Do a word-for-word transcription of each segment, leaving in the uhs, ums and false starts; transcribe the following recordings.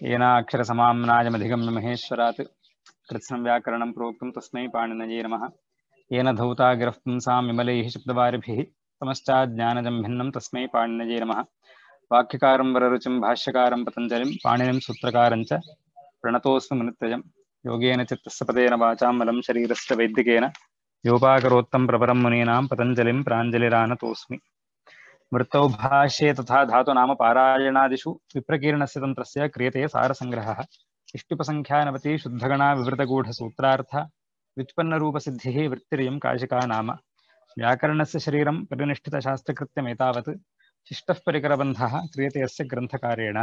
येनाक्षरसमाम्नायमधिगम्य महेश्वरात् कृत्स्नं व्याकरणं प्रोक्तं तस्मै पाणिनये नमः। येन धौता गिरः पुंसां विमलैः शब्दवारिभिः समश्चाज्ञानजं भिन्नं तस्मै पाणिनये नमः। वाक्यकारं वररुचिं भाष्यकारं पतञ्जलिं पाणिनिं सूत्रकारं च प्रणतोऽस्मि मुनित्रयम्। योगेन चित्तस्य पदेन वाचां मलं शरीरस्य वैद्यकेन योपाकरोत्तं प्रवरं मुनीनां पतञ्जलिं प्राञ्जलिरानतोऽस्मि। वृत्तौ भाष्ये तथा धातुनाम पारायणादिषु विप्रकीर्णस्य तन्त्रस्य क्रियते सारसङ्ग्रहः। इष्टुपसङ्ख्यानवति शुद्धगणा विवृतगूढसूत्रार्थ व्युत्पन्नरूपसिद्धिः वृत्तिरियं काशिका नाम। व्याकरणस्य शरीरं परिनिष्ठितशास्त्रकृत्यमेतावत् शिष्टः परिकरबन्धः क्रियते अस्य ग्रन्थकारेण।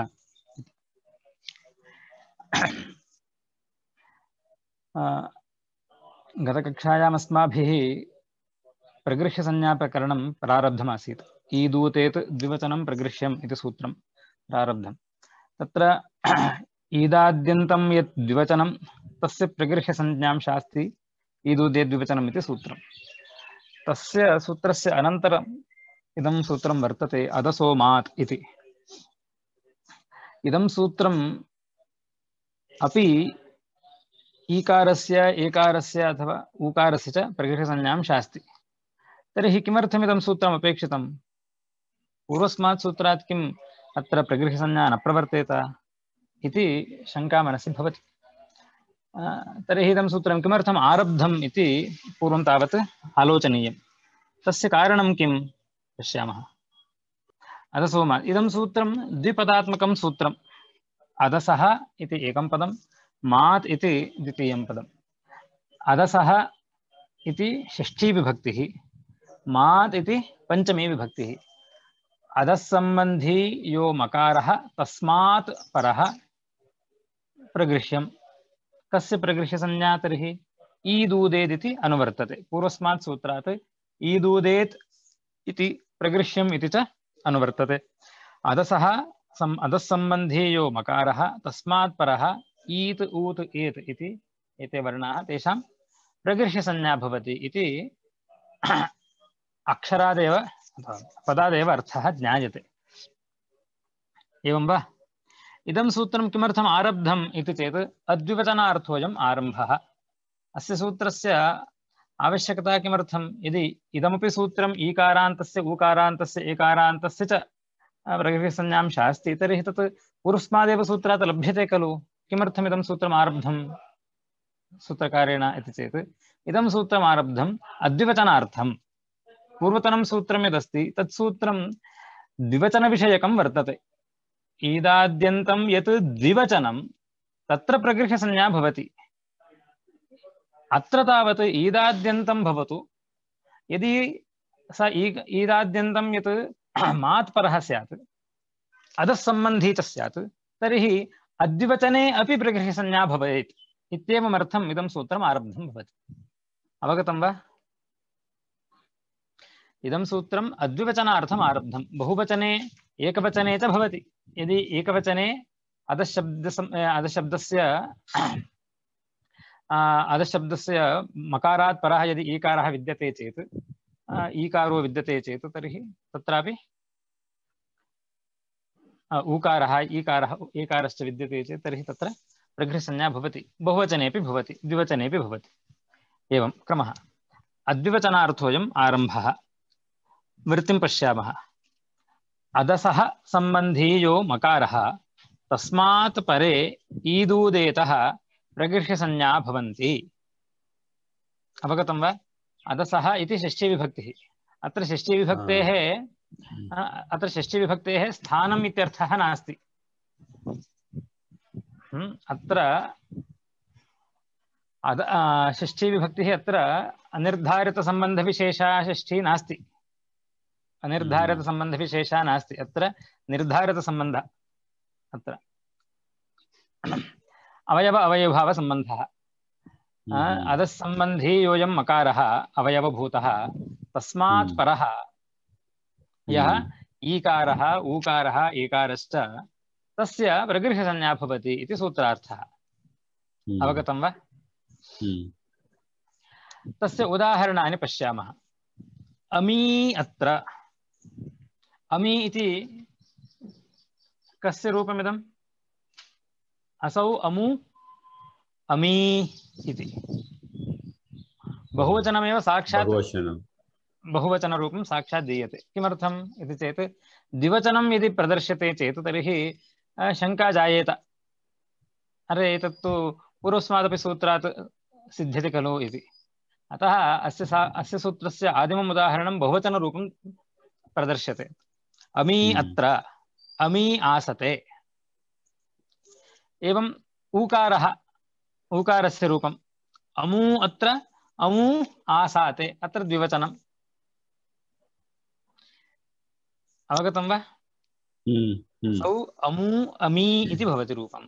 गतकक्षायामस्माभिः प्रगृह्यसंज्ञाप्रकरणं प्रारब्धमासीत्। ईदूतेत् द्विवचनं प्रगृह्यम् इति सूत्रं प्रारब्धं। तत्र ईदाद्यन्तं यत् द्विवचनं तस्य प्रगृह्यसंज्ञां शास्ति ईदूतेत् द्विवचनम् इति सूत्रं। तस्य सूत्रस्य अनन्तरम् इदं सूत्रं वर्तते अदसोमात् इति। इदं सूत्रम् अपि ईकारस्य एकारस्य अथवा ऊकारस्य च प्रगृह्यसंज्ञां शास्ति। तर्हि किमर्थमिदं सूत्रम् अपेक्षितं? पूर्वस्मात् सूत्रात् किम् अत्र प्रगृह्यसंज्ञा न प्रवर्तेत इति शङ्का मनसि भवति। तर्हि इदं सूत्रं किमर्थम् आरब्धम् इति पूर्वं तावत् आलोचनीयं। तस्य कारणं किं पश्यामः। अदसोमात् इदं सूत्रं द्विपदात्मकं सूत्रम्। अदसः इति एकं पदं, मात् इति द्वितीयं पदम्। अदसः इति षष्ठी विभक्तिः, मात् इति पञ्चमी विभक्तिः। अदस्सम्बन्धी यो मकारः तस्मात् परः प्रगृह्यं। कस्य प्रगृह्यसंज्ञा तर्हि? ईदूदेत् इति अनुवर्तते। पूर्वस्मात् सूत्रात् ईदूदेत् इति प्रगृह्यम् इति च अनुवर्तते। अदसः सम् अदस्सम्बन्धी यो मकारः तस्मात् परः ईत् ऊत् एत् इति एते वर्णाः तेषां प्रगृह्यसंज्ञा भवति इति अक्षरादेव पदादेव अर्थः ज्ञायते। एवं वा? इदं सूत्रं किमर्थम् आरब्धम् इति चेत् अद्विवचनार्थोऽयम् आरम्भः। अस्य सूत्रस्य आवश्यकता किमर्थं? यदि इदमपि सूत्रम् ईकारान्तस्य ऊकारान्तस्य एकारान्तस्य च प्रगृह्यसंज्ञां शास्ति तर्हि तत् पूर्वस्मादेव सूत्रात् लभ्यते खलु। किमर्थम् इदं सूत्रम् आरब्धं सूत्रकारेण इति चेत् इदं सूत्रम् आरब्धम् अद्विवचनार्थम्। पूर्वतनं सूत्रं यदस्ति तत् सूत्रं द्विवचनविषयकं वर्तते। ईदाद्यन्तं यत् द्विवचनं तत्र प्रगृह्यसंज्ञा भवति। अत्र तावत् ईदाद्यन्तं भवतु, यदि स ईदाद्यन्तं यत् मात्परः स्यात् अधःसम्बन्धी च स्यात् तर्हि अद्विवचने अपि प्रगृह्यसंज्ञा भवेत् इत्येवमर्थम् इदं सूत्रम् आरब्धं भवति। अवगतं वा? इदं सूत्रम् अद्विवचनार्थम् आरब्धं। बहुवचने एकवचने च भवति। यदि एकवचने अधशब्द अधशब्दस्य अधशब्दस्य मकारात् परः यदि ईकारः विद्यते चेत् ईकारो विद्यते चेत् तर्हि तत्रापि ऊकारः ईकारः एकारश्च विद्यते चेत् तर्हि तत्र प्रगृह्यसंज्ञा भवति। बहुवचनेपि भवति, द्विवचनेपि भवति। एवं क्रमः। अद्विवचनार्थोऽयम् आरम्भः। वृत्तिं पश्यामः। अदसः सम्बन्धी यो मकारः तस्मात् परे ईदूदेतः प्रगृह्यसंज्ञा भवन्ति। अवगतं वा? अदसः इति षष्ठीविभक्तिः। अत्र षष्ठीविभक्तेः अत्र षष्ठीविभक्तेः स्थानम् इत्यर्थः नास्ति। अत्र अद षष्ठीविभक्तिः अत्र अनिर्धारितसम्बन्धविशेषा षष्ठी नास्ति। अनिर्धारितसम्बन्धविशेषा नास्ति, अत्र निर्धारितसम्बन्धः। अत्र अवयव अवयवभावसम्बन्धः। अधःसम्बन्धी योऽयं मकारः अवयवभूतः तस्मात् परः यः ईकारः ऊकारः एकारश्च तस्य प्रगृह्यसंज्ञा भवति इति सूत्रार्थः। अवगतं वा? तस्य उदाहरणानि पश्यामः। अमी अत्र। अमी इति कस्य रूपमिदं? असौ अमु अमी इति बहुवचनमेव साक्षात् बहुवचनं बहुवचनरूपं साक्षात् दीयते। किमर्थम् इति चेत् द्विवचनं यदि प्रदर्श्यते चेत् तर्हि शङ्का जायेत, अरे एतत्तु पूर्वस्मादपि सूत्रात् सिद्ध्यति खलु इति। अतः अस्य सा अस्य सूत्रस्य आदिमम् उदाहरणं बहुवचनरूपं प्रदर्श्यते। अमी अत्र, अमी आसते। एवम् ऊकारः, ऊकारस्य रूपम् अमू अत्र, अमू आसाते, अत्र द्विवचनम्। अवगतं वा? सौ अमू अमी इति भवति रूपम्।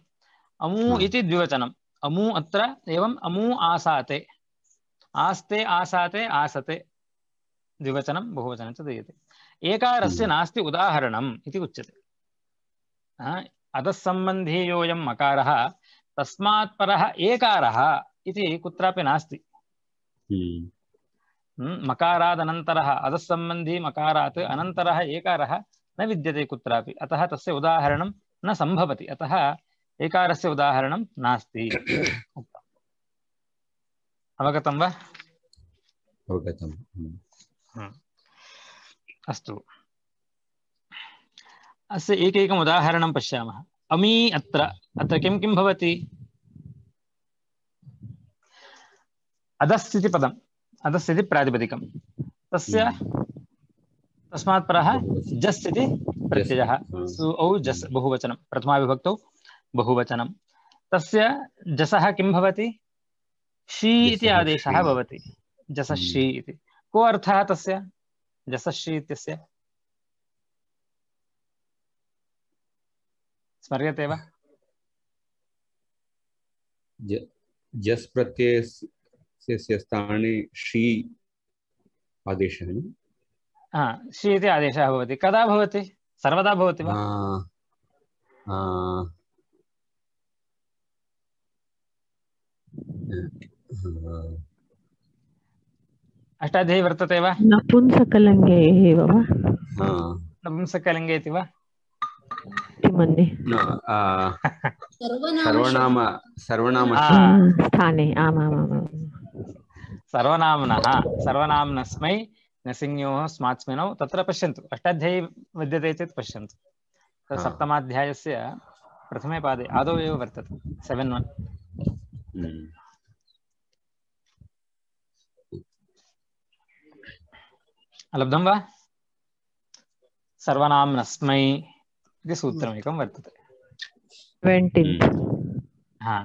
अमू इति द्विवचनम्, अमू अत्र एवम् अमू आसाते, आस्ते आसाते आसते, द्विवचनं बहुवचनं च दीयते। एकारस्य नास्ति उदाहरणम् इति उच्यते। अधःसम्बन्धी योऽयं मकारः तस्मात् परः एकारः इति कुत्रापि नास्ति। मकारादनन्तरः अधःसम्बन्धी मकारात् अनन्तरः एकारः न विद्यते कुत्रापि, अतः तस्य उदाहरणं न सम्भवति, अतः एकारस्य उदाहरणं नास्ति। अवगतं वा? अवगतम्। अस्तु, अस्य एकैकम् उदाहरणं पश्यामः। अमी अत्र, अत्र किं किं भवति? अधस् इति पदम्, अधस् इति प्रातिपदिकं, तस्य तस्मात् परः जस् इति प्रत्ययः, औ जस् बहुवचनं, प्रथमाविभक्तौ बहुवचनं। तस्य जसः किं भवति? शी इति आदेशः भवति, जसश्री इति। को अर्थः तस्य जसश्री इत्यस्य? स्मर्यते वा? जस् प्रत्ययस्य स्थाने शी आदेशः। हा, शी इति आदेशः भवति। कदा भवति? सर्वदा भवति वा? अष्टाध्यायी वर्तते वा? नपुंसकलिङ्गे एव वा? नपुंसकलिङ्गे इति वा? किमन्ये? सर्वनाम सर्वनाम स्थाने। आमामाम्। सर्वनाम्नः, सर्वनाम्नस्मै नसिंयोः स्मात्स्मिनौ, तत्र पश्यन्तु, अष्टाध्यायी विद्यते चेत् पश्यन्तु, सप्तमाध्यायस्य प्रथमे पादे आदौ एव वर्तते, सेवेन् वन्। लब्धं वा? सर्वनाम्नस्मै इति सूत्रमेकं वर्तते। हा,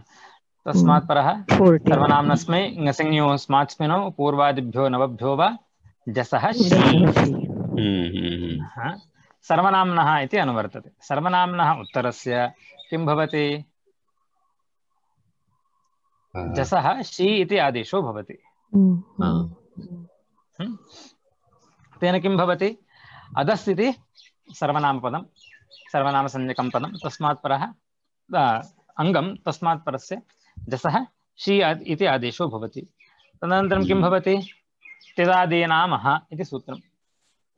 तस्मात् परः सर्वनाम्नस्मै ङसंज्ञोः स्मात्स्मिनौ पूर्वादिभ्यो नवभ्यो वा जसः शी। सर्वनाम्नः इति अनुवर्तते। सर्वनाम्नः उत्तरस्य किं भवति? जसः शी इति आदेशो भवति। तेन किं भवति? अधस् इति सर्वनामपदं, सर्वनामसंज्ञकं पदं, तस्मात् परः अङ्गं, तस्मात् परस्य जसः शी इति आदेशो भवति। तदनन्तरं किं भवति? त्यदादीनामः इति सूत्रं।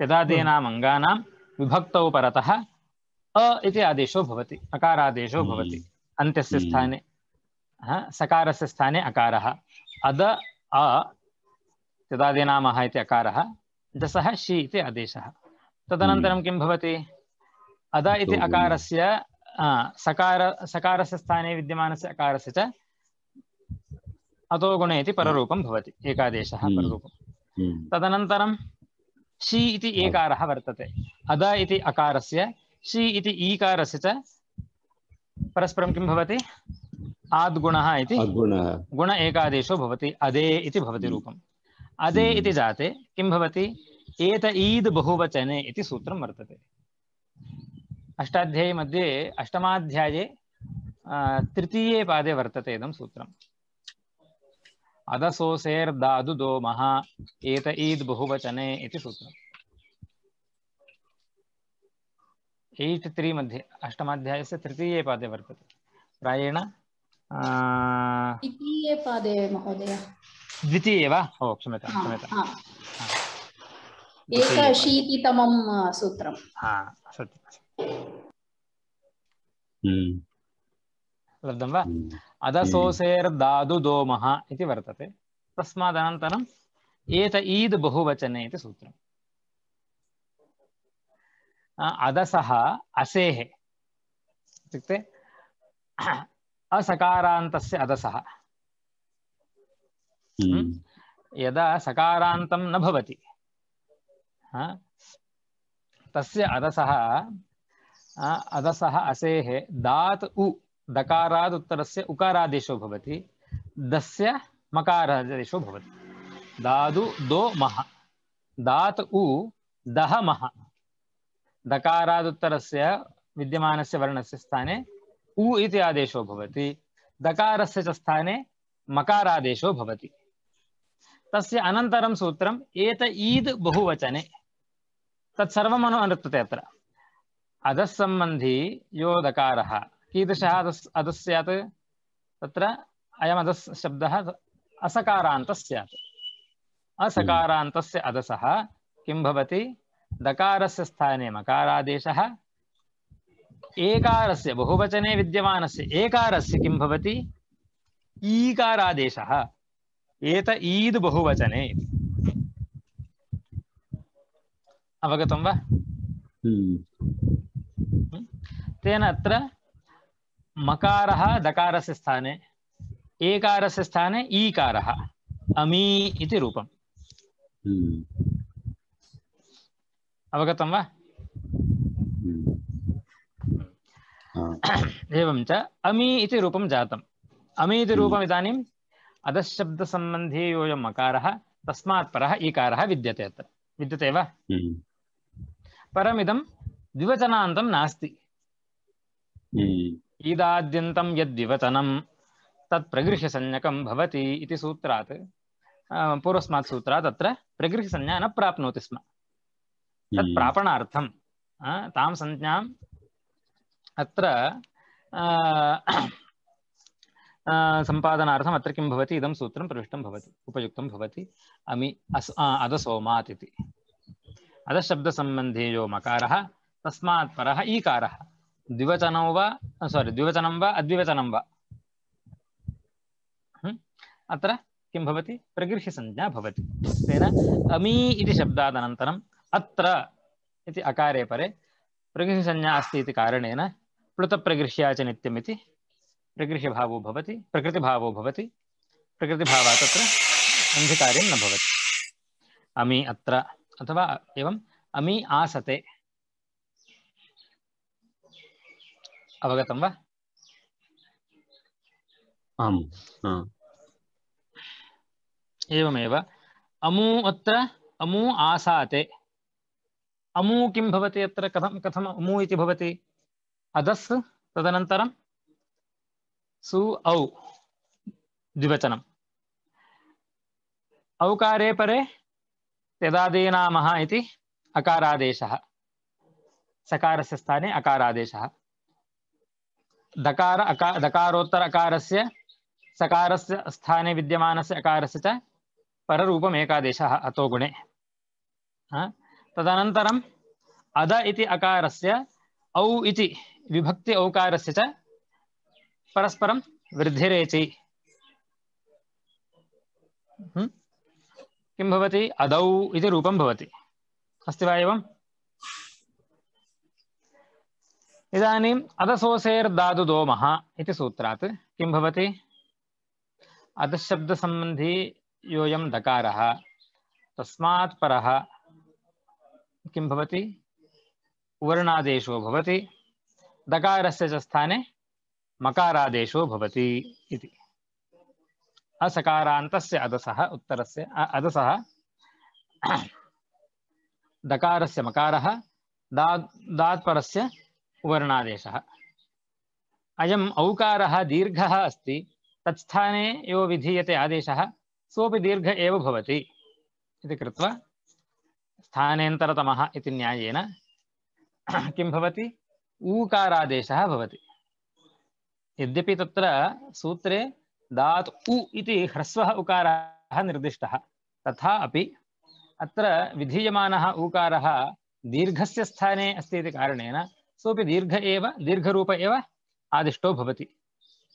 त्यदादीनाम् अङ्गानां विभक्तौ परतः अ इति आदेशो भवति, अकारादेशो भवति। अन्त्यस्य स्थाने सकारस्य स्थाने अकारः। अद अ त्यदादीनामः इति अकारः, जसः शी इति आदेशः। तदनन्तरं किं भवति? अद इति अकारस्य सकार सकारस्य स्थाने विद्यमानस्य अकारस्य च अतो गुणे इति पररूपं भवति, एकादेशः पररूपं। तदनन्तरं शी इति एकारः वर्तते। अद इति अकारस्य, शी इति ईकारस्य च परस्परं किं भवति? आद्गुणः इति गुण एकादेशो भवति। अदे इति भवति रूपम्। अदे इति जाते किं भवति? एत ईद् बहुवचने इति सूत्रं वर्तते। अष्टाध्यायी मध्ये अष्टमाध्याये तृतीये पादे वर्तते इदं सूत्रम्। अदसोसेर्दादु दोमः एत ईद् बहुवचने इति सूत्रम्। एय्ट् त्री मध्ये अष्टमाध्यायस्य तृतीये पादे वर्तते। प्रायेण द्वितीये पादे महोदय। द्वितीये वा? ओ क्षम्यतां क्षम्यताम्। एकाशीतितमं सूत्रम्। हा, सत्यम्। लब्धं वा? अदसोसेर्दादु दोमः इति वर्तते। तस्मादनन्तरम् एत ईद् बहुवचने इति सूत्रम्। अदसः असेः इत्युक्ते असकारान्तस्य अदसः। यदा सकारान्तं न भवति तस्य अदसः अदसः असेः दात् उ दकाराद् उत्तरस्य उकारादेशो भवति, दस्य मकारादेशो भवति। दादु दो मः, दात् उ दह मः, दकाराद् उत्तरस्य विद्यमानस्य वर्णस्य स्थाने उ इति आदेशो भवति, दकारस्य च स्थाने मकारादेशो भवति। तस्य अनन्तरं सूत्रम् एत ईद् बहुवचने। तत्सर्वम् अनुवर्तते अत्र। अधस्सम्बन्धी यो दकारः कीदृशः अधस् अधस् स्यात्? तत्र अयम् अधस् शब्दः असकारान्तः स्यात्। असकारान्तस्य अधसः किं भवति? दकारस्य स्थाने मकारादेशः, एकारस्य बहुवचने विद्यमानस्य एकारस्य किं भवति? ईकारादेशः। एत ईद् बहुवचने। अवगतं वा? तेन अत्र मकारः दकारस्य स्थाने, एकारस्य स्थाने ईकारः, अमी इति रूपम्। अवगतं वा? एवं च अमी इति रूपं जातम्। अमी इति रूपम् इदानीम् अधःशब्दसम्बन्धी योऽयं मकारः तस्मात् परः ईकारः विद्यते अत्र। विद्यते वा? परमिदं द्विवचनान्तं नास्ति। ईदाद्यन्तं यद्विवचनं तत् प्रगृह्यसंज्ञकं भवति इति सूत्रात्, पूर्वस्मात् सूत्रात् अत्र प्रगृह्यसंज्ञा न प्राप्नोति स्म। तत् प्रापणार्थं तां संज्ञाम् अत्र सम्पादनार्थम् अत्र किं भवति? इदं सूत्रं प्रविष्टं भवति, उपयुक्तं भवति। अमि अस् अधसोमात् इति। अधःशब्दसम्बन्धी यो मकारः तस्मात् परः ईकारः, द्विवचनं वा सारी द्विवचनं वा अद्विवचनं वा अत्र किं भवति? प्रगृह्यसंज्ञा भवति। तेन अमी इति शब्दादनन्तरम् अत्र इति अकारे परे प्रगृह्यसंज्ञा अस्ति इति कारणेन प्लुतप्रगृह्या च नित्यम् इति प्रगृह्यभावो भवति, प्रकृतिभावो भवति। प्रकृतिभावात् तत्र अन्धिकार्यं न भवति। अमी अत्र अथवा एवम् अमी आसते। अवगतं वा? आम्। एवमेव अमू अत्र अमू आसाते। अमू किं भवति अत्र? कथं कथम् अमू इति भवति? अधस् तदनन्तरं सु औ द्विवचनम्। औकारे परे त्यदादीनामः इति अकारादेशः, सकारस्य स्थाने अकारादेशः। दकार अका दकारोत्तर अकारस्य सकारस्य स्थाने विद्यमानस्य अकारस्य च पररूपम् एकादेशः अतो गुणे। तदनन्तरम् अद इति अकारस्य औ इति विभक्ति औकारस्य च परस्परं वृद्धिरेचि। किं भवति? अदौ इति रूपं भवति। अस्ति वा एवम्? इदानीम् अधसोसेर्दादु दोमः इति सूत्रात् किं भवति? अधःशब्दसम्बन्धी योऽयं दकारः तस्मात् परः किं भवति? वर्णादेशो भवति, दकारस्य च स्थाने मकारादेशो भवति इति। असकारान्तस्य अधसः उत्तरस्य अधसः दकारस्य मकारः, दात् दात्परस्य वर्णादेशः। अयम् औकारः दीर्घः अस्ति, तत्स्थाने यो विधीयते आदेशः सोऽपि दीर्घ एव भवति इति कृत्वा स्थानेन्तरतमः इति न्यायेन किं भवति? ऊकारादेशः भवति। यद्यपि तत्र सूत्रे दात् उ इति ह्रस्वः उकारः निर्दिष्टः, तथापि अत्र विधीयमानः ऊकारः दीर्घस्य स्थाने अस्ति इति कारणेन सोऽपि दीर्घ एव दीर्घरूप एव आदिष्टो भवति।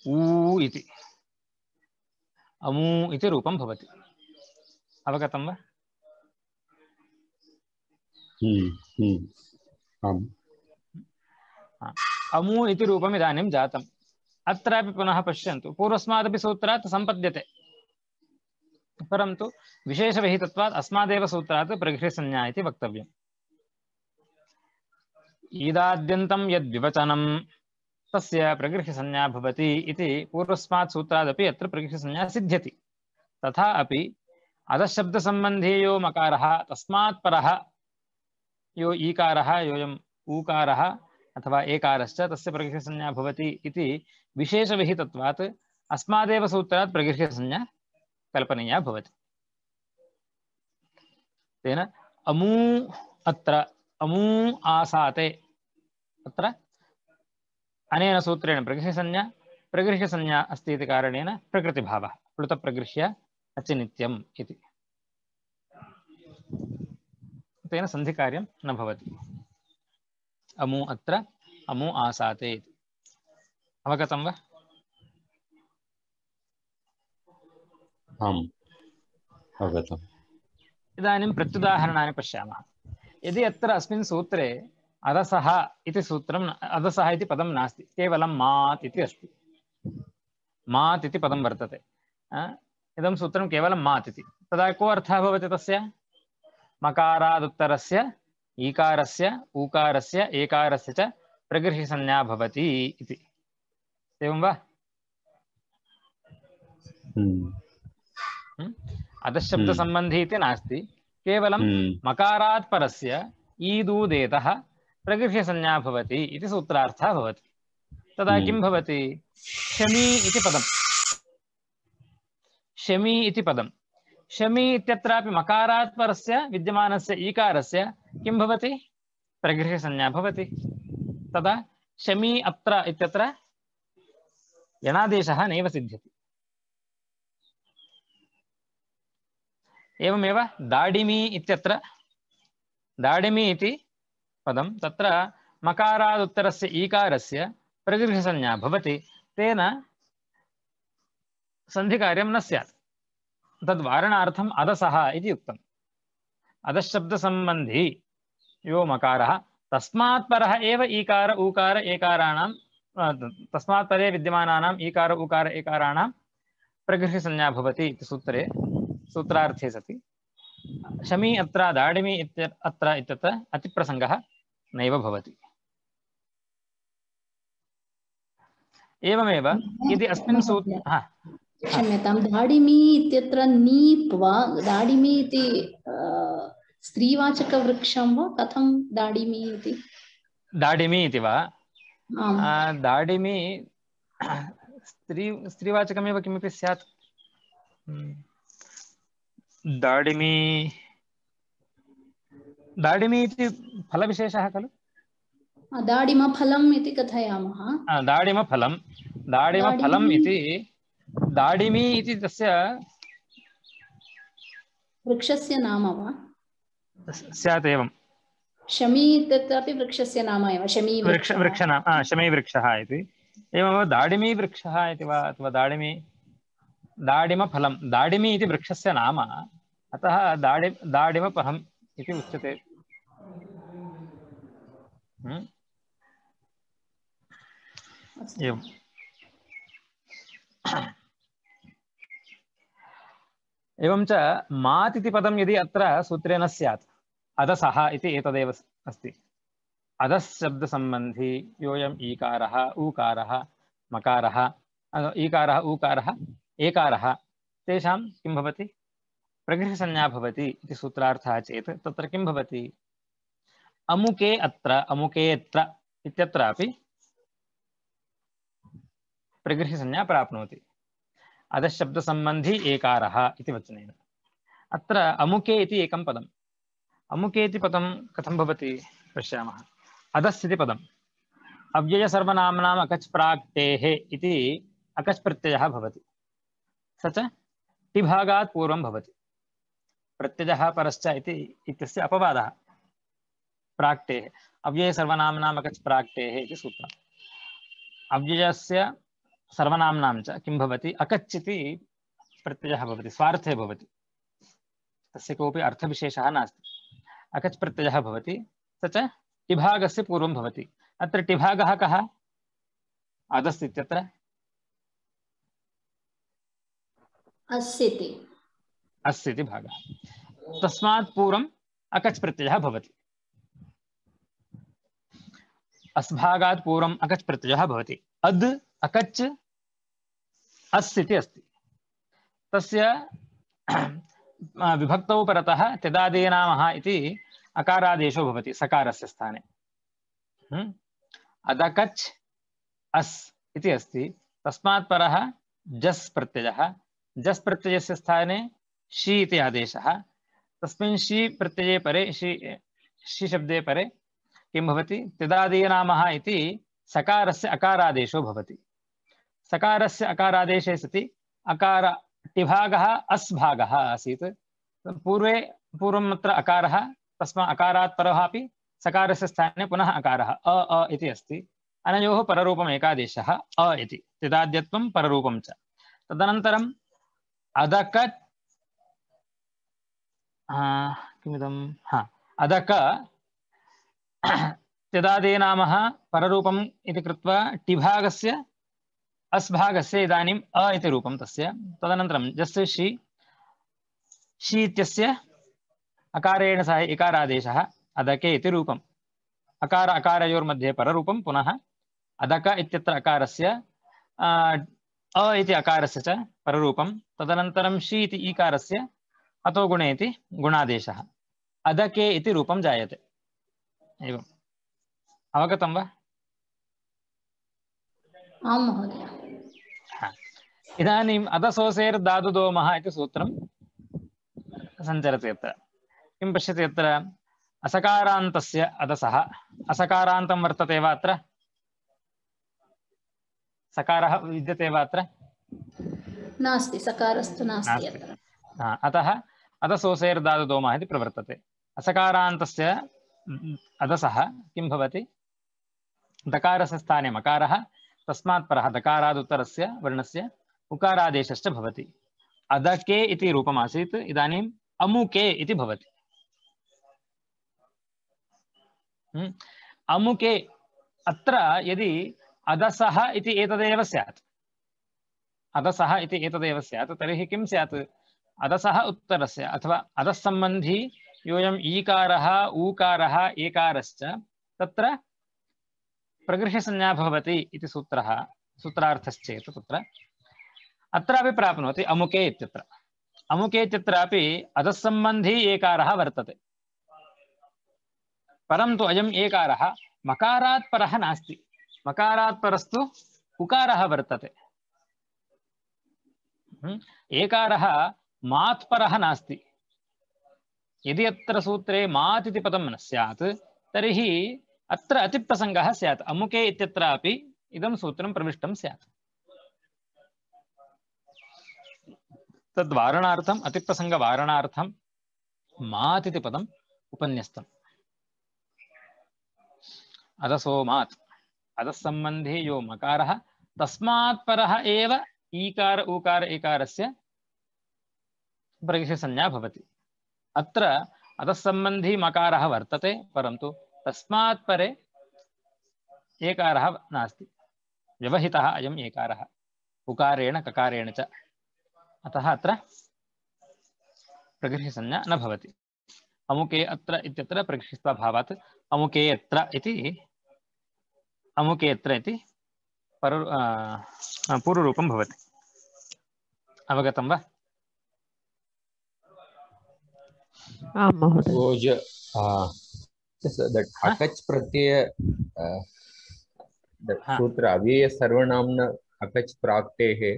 ऊ इति अमू इति रूपं भवति। अवगतं वा? हम्म हम्म आम् अमू इति रूपम् इदानीं जातम्। अत्रापि पुनः पश्यन्तु, पूर्वस्मादपि सूत्रात् सम्पद्यते, परन्तु विशेषविहितत्वात् अस्मादेव सूत्रात् प्रगृह्यसंज्ञा इति वक्तव्यम्। ईदाद्यन्तं यद्विवचनं तस्य प्रगृह्यसंज्ञा भवति इति पूर्वस्मात् सूत्रादपि अत्र प्रगृह्यसंज्ञा सिद्ध्यति। तथा अपि अधःशब्दसम्बन्धी यो मकारः तस्मात् परः यो ईकारः योऽयम् ऊकारः अथवा एकारश्च तस्य प्रगृह्यसंज्ञा भवति इति विशेषविहितत्वात् अस्मादेव सूत्रात् प्रगृह्यसंज्ञा कल्पनीया भवति। तेन अमू अत्र अमू आसाते अत्र अनेन सूत्रेण प्रगृह्यसंज्ञा प्रगृह्यसंज्ञा अस्ति इति कारणेन प्रकृतिभावः प्लुतप्रगृह्य अचिनित्यम् इति। तेन सन्धिकार्यं न भवति। अमू अत्र अमू आसाते इति। अवगतं वा? आम् अवगतम्। इदानीं प्रत्युदाहरणानि पश्यामः। यदि अत्र अस्मिन् सूत्रे अदसः इति सूत्रम् अदसः इति पदं नास्ति, केवलं मात् इति अस्ति। मात् इति पदं वर्तते। इदं सूत्रं केवलं मात् इति। तदा को अर्थः भवति तस्य? मकारादुत्तरस्य ईकारस्य ऊकारस्य एकारस्य च प्रगृह्यसंज्ञा भवति इति। एवं वा? अधःशब्दसम्बन्धी इति नास्ति, केवलं मकारात् परस्य ईदूदेतः प्रगृह्यसंज्ञा भवति इति सूत्रार्थः भवति। तदा किं भवति? शमी इति पदं शमी इति पदं शमी इत्यत्रापि मकारात् परस्य विद्यमानस्य ईकारस्य किं भवति? प्रगृह्यसंज्ञा भवति। तदा शमी अत्र इत्यत्र यणादेशः नैव सिद्ध्यति। एवमेव दाडिमी इत्यत्र दाडिमी इति पदं तत्र मकारादुत्तरस्य ईकारस्य प्रगृह्यसंज्ञा भवति। तेन सन्धिकार्यं न स्यात्। तद्वारणार्थम् अदसः इति उक्तम्। अधःशब्दसम्बन्धी यो मकारः तस्मात् परः एव ईकार ऊकार एकाराणां तस्मात् परे विद्यमानानाम् ईकार ऊकार एकाराणां प्रगृह्यसंज्ञा भवति इति सूत्रे सूत्रार्थे सति शमी अत्र दाडिमी इत्य अत्र इत्यत्र अतिप्रसङ्गः नैव भवति। एवमेव यदि अस्मिन् सूत्रे क्षम्यतां, दाडिमी इत्यत्र नीप् वा दाडिमी इति स्त्रीवाचकवृक्षं वा कथं दाडिमी इति? दाडिमी इति वा? दाडिमी स्त्री स्त्रीवाचकमेव किमपि स्यात्। दाडिमी दाडिमी इति फलविशेषः खलु? दाडिमफलम् इति कथयामः। दाडिमफलं दाडिमफलम् इति दाडिमी इति तस्य वृक्षस्य नाम वा? स्यात् एवं। शमी इत्यत्रापि वृक्षस्य नाम एव शमी वृक्ष वृक्षनाम शमी वृक्षः इति। एवमेव दाडिमी वृक्षः इति वा अथवा दाडिमी दाडिमफलं दाडिमी इति वृक्षस्य नाम, अतः दाडि दाडिमफलम् इति उच्यते। एवम्। एवं च मात् इति पदं यदि अत्र सूत्रे न स्यात्, अदसः इति एतदेव अस्ति। अधःशब्दसम्बन्धी योऽयम् ईकारः ऊकारः मकारः ईकारः ऊकारः एकारः तेषां किं भवति? प्रगृह्यसंज्ञा भवति इति सूत्रार्थः चेत् तत्र किं भवति? अमुके अत्र अमुकेऽत्र इत्यत्रापि प्रगृह्यसंज्ञा प्राप्नोति। अधःशब्दसम्बन्धी एकारः इति वचनेन। अत्र अमुके इति एकं पदम्। अमुके इति पदं कथं भवति पश्यामः। अधस् इति पदम् अव्ययसर्वनाम्नाम् अकच् प्राक्तेः इति अकच् प्रत्ययः भवति। स च टिभागात् पूर्वं भवति। प्रत्ययः परश्च इति इत्यस्य अपवादः। प्राक्तेः अव्ययसर्वनाम्नाम् अकच् प्राक्तेः इति सूत्रम्। अव्ययस्य सर्वनाम्नां च किं भवति अकच् इति प्रत्ययः भवति, स्वार्थे भवति, तस्य कोऽपि अर्थविशेषः नास्ति। अकच् प्रत्ययः भवति, स च टिभागस्य पूर्वं भवति। अत्र टिभागः कः? अदस् इत्यत्र अस्ति अस्य इति भागः, तस्मात् पूर्वम् अकच् प्रत्ययः भवति। अस्भागात् पूर्वम् अकच् प्रत्ययः भवति। अद् अकच् अस् इति अस्ति, तस्य विभक्तौ परतः त्यदादीनामः इति अकारादेशो भवति सकारस्य स्थाने। अदकच् अस् इति अस्ति, तस्मात् परः जस् प्रत्ययः, जस् प्रत्ययस्य स्थाने शी इति आदेशः। तस्मिन् शी प्रत्यये परे शी शी शब्दे परे किं भवति? त्यदादीनामः इति सकारस्य अकारादेशो भवति। सकारस्य अकारादेशे सति अकार टिभागः अस् भागः आसीत्। पूर्वे पूर्वम् अत्र अकारः, तस्मात् अकारात् परः अपि सकारस्य स्थाने पुनः अकारः अ अ इति अस्ति। अनयोः पररूपम् एकादेशः अ इति, त्यदाद्यत्वं पररूपं च। तदनन्तरम् अदकत् किमिदं हा अदक त्यदादीनामः पररूपम् इति कृत्वा टिभागस्य अस्भागस्य इदानीम् अ इति रूपं तस्य। तदनन्तरं जस्य शी शी इत्यस्य अकारेण सह इकारादेशः अदके इति रूपम्। अकार अकारयोर्मध्ये पररूपं, पुनः अदक इत्यत्र अकारस्य अ इति अकारस्य च पररूपं। तदनन्तरं शी इति ईकारस्य अतो गुणे इति गुणादेशः, अदके इति रूपं जायते। एवम् अवगतं वा? आं महोदय। इदानीम् अदसोसेर् दादुदोमः इति सूत्रं सञ्चरति। अत्र किं पश्यति? अत्र असकारान्तस्य अदसः, असकारान्तं वर्तते वा? अत्र सकारः विद्यते वा? अत्र नास्ति, सकारस्तु नास्ति अत्र। अतः अदसोसेर् दादुदोमः इति प्रवर्तते। असकारान्तस्य अदसः किं भवति? दकारस्य स्थाने मकारः, तस्मात् परः दकारादुत्तरस्य वर्णस्य उकारादेशश्च भवति। अदके इति रूपमासीत्, इदानीम् अमुके इति भवति। अमुके अत्र यदि अदसः इति एतदेव स्यात्, अदसः इति एतदेव स्यात्, तर्हि किं स्यात्? अदसः उत्तरस्य अथवा अदस्सम्बन्धी योऽयम् ईकारः ऊकारः एकारश्च तत्र प्रगृह्यसंज्ञा भवति इति सूत्रः सूत्रार्थश्चेत् तत्र अत्रापि प्राप्नोति अमुके इत्यत्र। अमुके इत्यत्रापि अदस्सम्बन्धी एकारः वर्तते, परन्तु अयम् एकारः मकारात् परः नास्ति, मकारात् परस्तु उकारः वर्तते। एकारः मात् परः नास्ति। यदि अत्र सूत्रे मात् इति पदं न स्यात् तर्हि अत्र अतिप्रसङ्गः स्यात्। अमुके इत्यत्रापि इदं सूत्रं प्रविष्टं स्यात्। तद्वारणार्थम् अतिप्रसङ्गवारणार्थं मात् इति पदम् उपन्यस्तम्। अदसो मात्, अदस्सम्बन्धी यो मकारः तस्मात् परः एव ईकार ऊकार एकारस्य प्रगृह्यसंज्ञा भवति। अत्र अदस्सम्बन्धी मकारः वर्तते, परन्तु तस्मात् परे एकारः नास्ति, व्यवहितः अयम् एकारः उकारेण ककारेण च। अतः अत्र प्रगृह्यसंज्ञा न भवति। अमुके अत्र इत्यत्र प्रगृह्यत्वाभावात् अमुके अत्र इति अमुके अत्र इति पर पूर्वरूपं भवति। अवगतं वा? आं महोदय। So, ju- uh, just that Huh? akach pratyaya, uh, the Huh. sutra avyaya sarvanamna akach praktehe,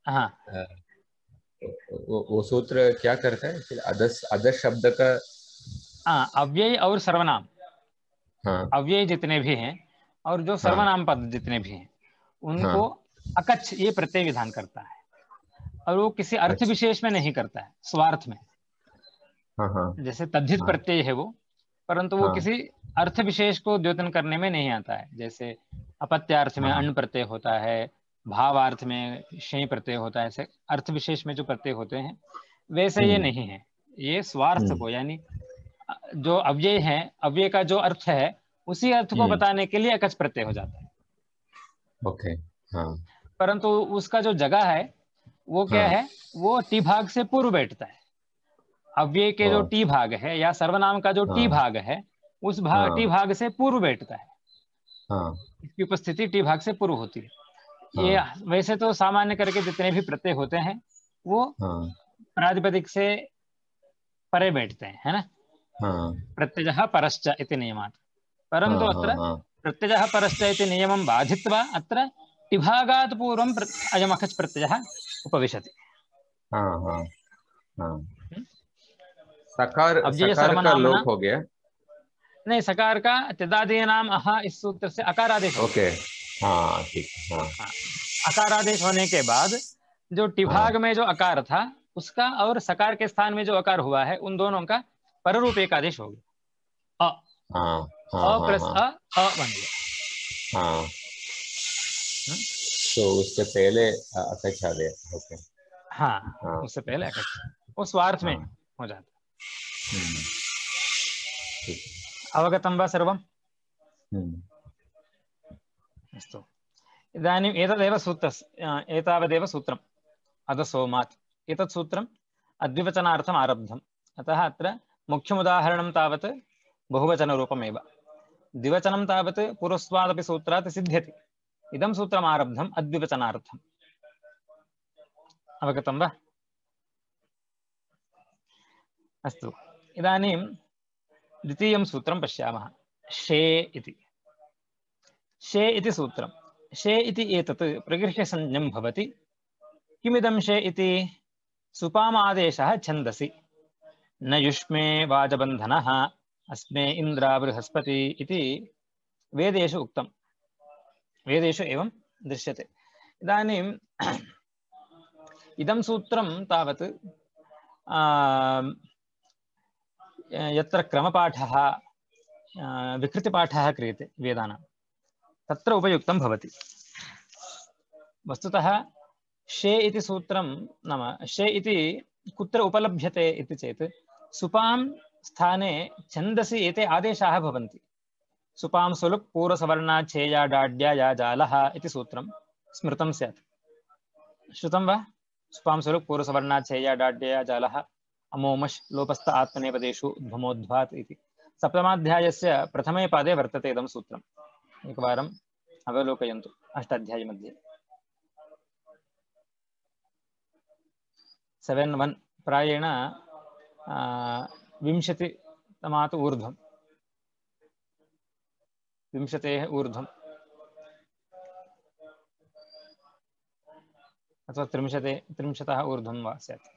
हाँ, uh, वो वो सूत्र क्या करता है? फिर अदस अदस शब्द का हाँ, अव्यय और सर्वनाम, हाँ अव्यय जितने भी हैं और जो सर्वनाम पद जितने भी हैं उनको अकच्छ ये प्रत्यय विधान करता है, और वो किसी अर्थ अच्छा। विशेष में नहीं करता है, स्वार्थ में। हाँ हाँ जैसे तद्धित हाँ। प्रत्यय है वो, परंतु वो हाँ। किसी अर्थ विशेष को द्योतन करने में नहीं आता है। जैसे अपत्यार्थ में हाँ। अण् प्रत्यय होता है, भावार्थ में शें प्रत्यय होता है, ऐसे अर्थ विशेष में जो प्रत्यय होते हैं वैसे ये नहीं है। ये स्वार्थ को यानी जो अव्यय है, अव्यय का जो अर्थ है उसी अर्थ को बताने के लिए अकच प्रत्यय हो जाता है। ओके, हाँ। परंतु उसका जो जगह है वो क्या हाँ। है, वो टी भाग से पूर्व बैठता है। अव्यय के जो टी भाग है या सर्वनाम का जो टी भाग है उस भाग टी भाग से पूर्व बैठता है। हाँ। इसकी उपस्थिति टी भाग से पूर्व होती है। हाँ। ये वैसे तो सामान्य करके जितने भी प्रत्यय होते हैं वो हाँ। प्रातिपदिक से परे बैठते हैं, है ना। हाँ। प्रत्ययः परश्च इति नियमात्। परन्तु हाँ, अत्र हाँ, प्रत्ययः परश्च इति नियमं बाधित्वा अत्र टिभागात् पूर्वं अयम् अकच् प्रत्ययः उपविशति। हाँ, हाँ, हाँ। सकार अव्यय सकार का सर्वनामना लोप हो गया। नहीं, सकार का तिदादीनाम अह इस सूत्र से अकारादेश। ओके, हाँ ठीक, हाँ। हाँ, अकारादेश होने के बाद जो टिभाग में जो अकार था उसका और सकार के स्थान में जो अकार हुआ है उन दोनों का पररूप एक आदेश हो गया। अ हाँ, हाँ, अ हाँ, प्लस हाँ, अ अ बन गया। हाँ। तो उसके पहले अकच आ गया। ओके, हाँ, हाँ, उससे पहले अकच वो स्वार्थ में हाँ। हो जाता। हम्म, ठीक। अवगतं वा सर्वम्? हम्म, अस्तु, इदानीम् एतदेव सूत्रस्य एतावदेव सूत्रम् अधसोमात्। एतत् सूत्रम् अद्विवचनार्थम् आरब्धम्। अतः अत्र मुख्यमुदाहरणं तावत् बहुवचनरूपमेव, द्विवचनं तावत् पूर्वस्वादपि सूत्रात् सिद्ध्यति। इदं सूत्रम् आरब्धम् अद्विवचनार्थम्। अवगतं वा? अस्तु, इदानीं द्वितीयं सूत्रं पश्यामः। शे इति शे इति सूत्रं। शे इति एतत् प्रगृह्यसंज्ञं भवति। किमिदं शे इति? सुपामादेशः छन्दसि। न युष्मे वाजबन्धनः अस्मे इन्द्रा बृहस्पति इति वेदेषु उक्तं, वेदेषु एवं दृश्यते। इदानीम् इदं सूत्रं तावत् यत्र क्रमपाठः विकृतिपाठः क्रियते वेदानां तत्र उपयुक्तं भवति। वस्तुतः शे इति सूत्रं नाम शे इति कुत्र उपलभ्यते इति चेत् सुपां स्थाने छन्दसि एते आदेशाः भवन्ति। सुपां सुलुक् पूर्वसवर्णा छेया डाड्या या जालः इति सूत्रं स्मृतं स्यात्। श्रुतं वा? सुपां सुलुक् पूर्वसवर्णा छेया डाड्या या जालः अमोमश् लोपस्थ आत्मनेपदेषु उद्भमोद्ध्वात् इति सप्तमाध्यायस्य प्रथमे पादे वर्तते इदं सूत्रम्। एकवारम् अवलोकयन्तु अष्टाध्यायी मध्ये। सेवेन् वन् प्रायेण विंशतितमात् ऊर्ध्वं, विंशतेः ऊर्ध्वम् अथवा त्रिंशते त्रिंशतः ऊर्ध्वं वा स्यात्।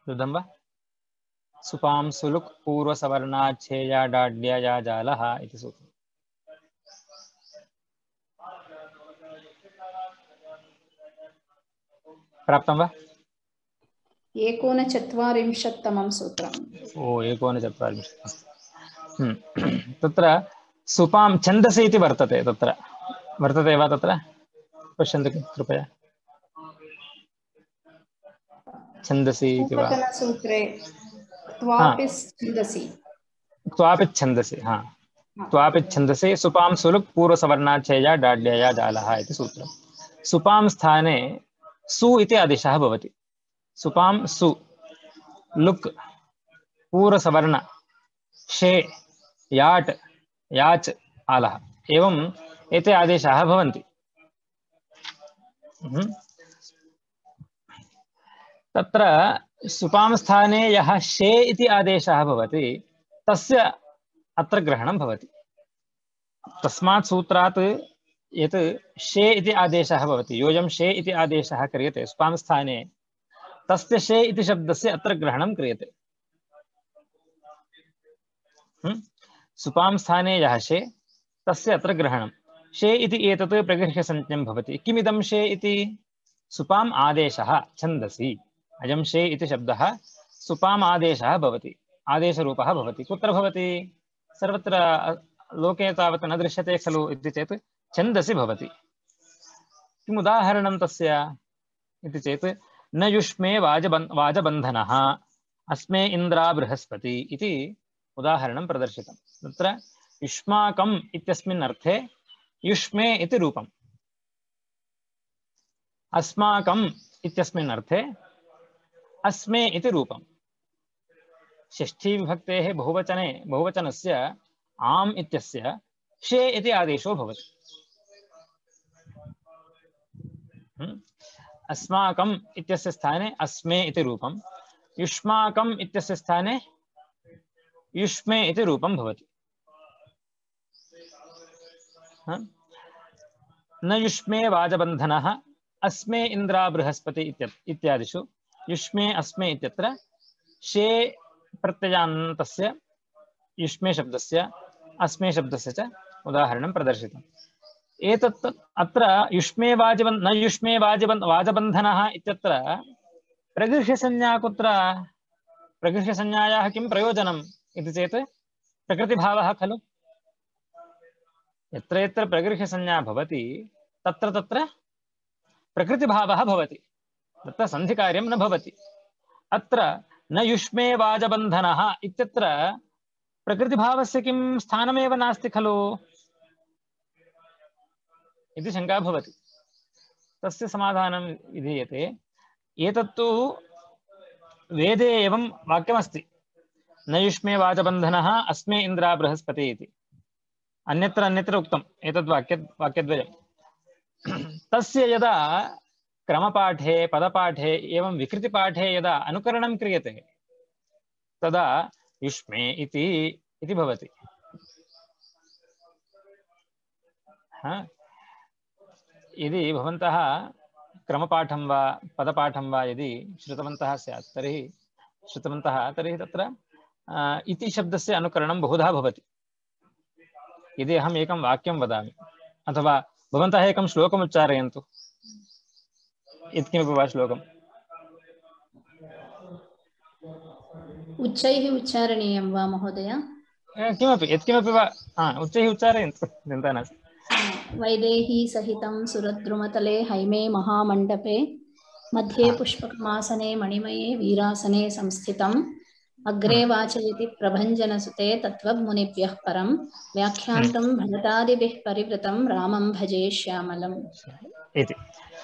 रुदं वा? सुपां सुलुक् पूर्वसवर्णाच्छेया डाड्या या जालः इति सूत्रम्। प्राप्तं वा? एकोनचत्वारिंशत्तमं सूत्रम्। ओ एकोनचत्वारिंशत् अस्तु। तत्र सुपां छन्दसि इति वर्तते, तत्र वर्तते वा? तत्र पश्यन्तु कृपया। छन्दसि इति वा? पूर्वतनसूत्रे क्त्वापिच्छन्दसि क्त्वापिच्छन्दसि, हाँ, क्त्वापिच्छन्दसि सुपां सुलुक् पूर्वसवर्णाच्छेया डाड्या या जालः इति सूत्रम्। सुपां स्थाने सु इति आदेशः भवति। सुपां सु लुक् पूर्वसवर्ण शे याट् याच् आलः एवं एते आदेशाः भवन्ति। तत्र सुपां स्थाने यः शे इति आदेशः भवति तस्य अत्र ग्रहणं भवति। तस्मात् सूत्रात् यत् शे इति आदेशः भवति, योऽयं शे इति आदेशः क्रियते सुपां स्थाने, तस्य शे इति शब्दस्य अत्र ग्रहणं क्रियते। सुपां स्थाने यः शे तस्य अत्र ग्रहणं। शे इति एतत् प्रगृह्यसंज्ञं भवति। किमिदं शे इति? सुपाम् आदेशः छन्दसि। अयं शे इति शब्दः सुपाम् आदेशः भवति, आदेशरूपः भवति। कुत्र भवति? सर्वत्र लोके तावत् न दृश्यते खलु इति चेत् छन्दसि भवति। किम् उदाहरणं तस्य इति चेत् न युष्मे वाजबन् वाजबन्धनः अस्मे इन्द्रा बृहस्पति इति उदाहरणं प्रदर्शितं। तत्र युष्माकम् इत्यस्मिन् अर्थे युष्मे इति रूपम्, अस्माकम् इत्यस्मिन् अर्थे अस्मे इति रूपम्। षष्ठी विभक्तेः बहुवचने बहुवचनस्य आम् इत्यस्य शे इति आदेशो भवति। अस्माकम् इत्यस्य स्थाने अस्मे इति रूपम्, युष्माकम् इत्यस्य स्थाने युष्मे इति रूपं भवति। न युष्मे वाजबन्धनः अस्मे इन्द्रा बृहस्पति इत्यादिषु युष्मे अस्मे इत्यत्र शे प्रत्ययान्तस्य युष्मे शब्दस्य अस्मे शब्दस्य च उदाहरणं प्रदर्शितम्। एतत् अत्र युष्मे वाजबन् न युष्मे वाजबन् वाजबन्धनः इत्यत्र प्रगृह्यसंज्ञा कुत्र? प्रगृह्यसंज्ञायाः किं प्रयोजनम् इति चेत् प्रकृतिभावः खलु। यत्र यत्र प्रगृह्यसंज्ञा भवति तत्र तत्र प्रकृतिभावः भवति, तत्र सन्धिकार्यं न भवति। अत्र न युष्मे वाजबन्धनः इत्यत्र प्रकृतिभावस्य किं स्थानमेव नास्ति खलु इति शङ्का भवति। तस्य समाधानं विधीयते। एतत्तु वेदे एवं वाक्यमस्ति, न युष्मे वाजबन्धनः अस्मे इन्द्रा बृहस्पति इति। अन्यत्र अन्यत्र उक्तम् एतद् वाक्य वाक्यद्वयं। तस्य यदा क्रमपाठे पदपाठे एवं विकृतिपाठे यदा अनुकरणं क्रियते तदा युष्मे इति इति भवति। यदि भवन्तः क्रमपाठं वा पदपाठं वा यदि श्रुतवन्तः स्यात् तर्हि श्रुतवन्तः तर्हि तत्र इति शब्दस्य अनुकरणं बहुधा भवति। यदि अहम् एकं वाक्यं वदामि अथवा भवन्तः एकं श्लोकम् उच्चारयन्तु, यत्किमपि वा श्लोकम्। उच्चैः उच्चारणीयं वा महोदय? किमपि यत्किमपि वा उच्चैः उच्चारयन्तु, चिन्ता नास्ति। वैदेही सहितं सुरद्रुमतले हैमे महामण्डपे मध्ये पुष्पकमासने मणिमये वीरासने संस्थितम् अग्रे वाचयति प्रभञ्जनसुते तत्त्वमुनिभ्यः परं व्याख्यान्तं भरतादिभिः परिवृतं रामं भजे श्यामलम् इति।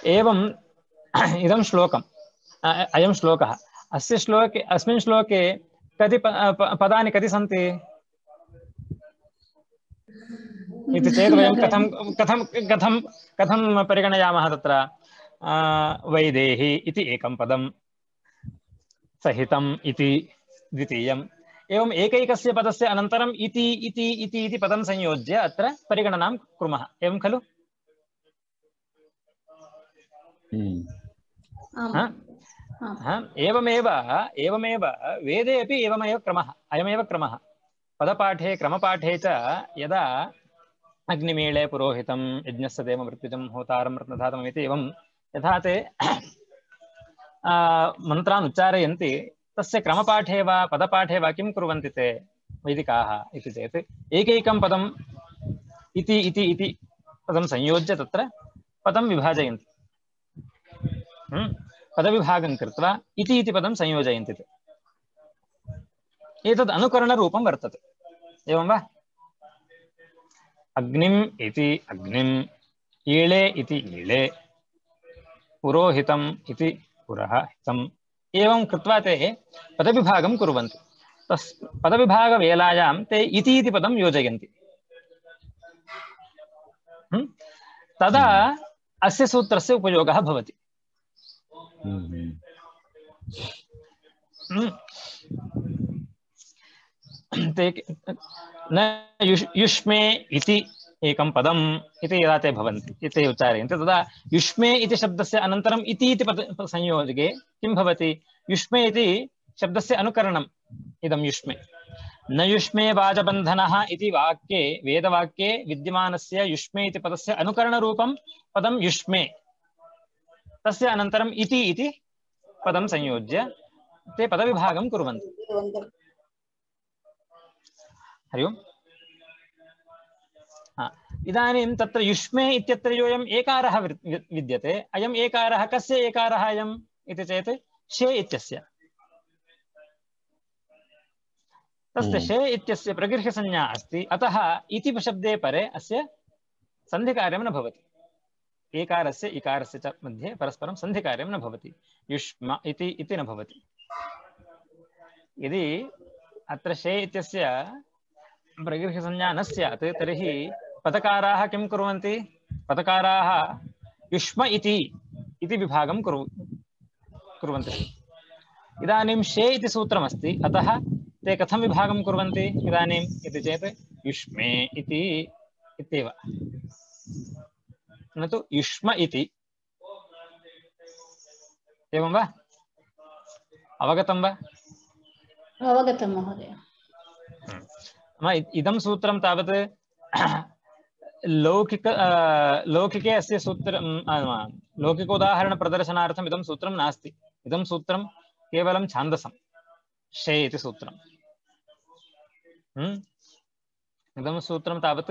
एवम् इदं श्लोकम् अयं श्लोकः। अस्य श्लोके अस्मिन् श्लोके कति पदानि कति सन्ति इति चेत् वयं कथं कथं कथं कथं परिगणयामः? तत्र वैदेही इति एकं पदं, सहितम् इति द्वितीयम्, एवम् एकैकस्य पदस्य अनन्तरम् इति इति इति इति पदं संयोज्य अत्र परिगणनां कुर्मः, एवं खलु? एवमेव एवमेव वेदे अपि एवमेव क्रमः, अयमेव क्रमः। पदपाठे क्रमपाठे च यदा अग्निमीळे पुरोहितं यज्ञस्य देवमृत्युजं होतारं रत्नधातम् इति एवं यथा ते मन्त्रान् उच्चारयन्ति तस्य क्रमपाठे वा पदपाठे वा किं कुर्वन्ति ते वैदिकाः इति चेत् एकैकं पदम् इति इति इति पदं संयोज्य तत्र पदं विभाजयन्ति। पदविभागं कृत्वा इति इति पदं संयोजयन्ति ते। एतद् अनुकरणरूपं वर्तते, एवं वा? अग्निम् इति अग्निम्, ईळे इति ईळे, पुरोहितम् इति पुरोहितम्, एवं कृत्वा ते पदविभागं कुर्वन्ति। तस् पदविभागवेलायां ते इति इति पदं योजयन्ति। तदा अस्य सूत्रस्य उपयोगः भवति। न युष्मे इति एकं पदम् इति यदा ते भवन्ति इति उच्चारयन्ति तदा युष्मे इति शब्दस्य अनन्तरम् इति इति पद संयोगे किं भवति? युष्मे इति शब्दस्य अनुकरणम् इदं युष्मे। न युष्मे वाजबन्धनः इति वाक्ये वेदवाक्ये विद्यमानस्य युष्मे इति पदस्य अनुकरणरूपं पदं युष्मे, तस्य अनन्तरम् इति इति पदं संयोज्य ते पदविभागं कुर्वन्ति। हरि ओम्। इदानीं तत्र युष्मे इत्यत्र योऽयम् एकारः विद्यते, अयम् एकारः कस्य एकारः अयम् इति चेत् शे इत्यस्य। तस्य शे इत्यस्य प्रगृह्यसंज्ञा अस्ति, अतः इति शब्दे परे अस्य सन्धिकार्यं न भवति। एकारस्य इकारस्य च मध्ये परस्परं सन्धिकार्यं न भवति, युष्म इति इति न भवति। यदि अत्र शे इत्यस्य प्रगृह्यसंज्ञा न स्यात् तर्हि पदकाराः किं कुर्वन्ति? पदकाराः युष्म इति इति विभागं कुरु कुर्वन्ति। इदानीं शे इति सूत्रमस्ति, अतः ते कथं विभागं कुर्वन्ति इदानीम् इति चेत् युष्मे इति इत्येव, न तु युष्म इति। एवं वा? अवगतं वा? अवगतं महोदय। इदं सूत्रं तावत् लौकिक लौकिके अस्य सूत्रं लौकिक उदाहरण प्रदर्शनार्थम् इदं सूत्रं नास्ति। इदं सूत्रं केवलं छान्दसं शे इति सूत्रम्। इदं सूत्रं तावत्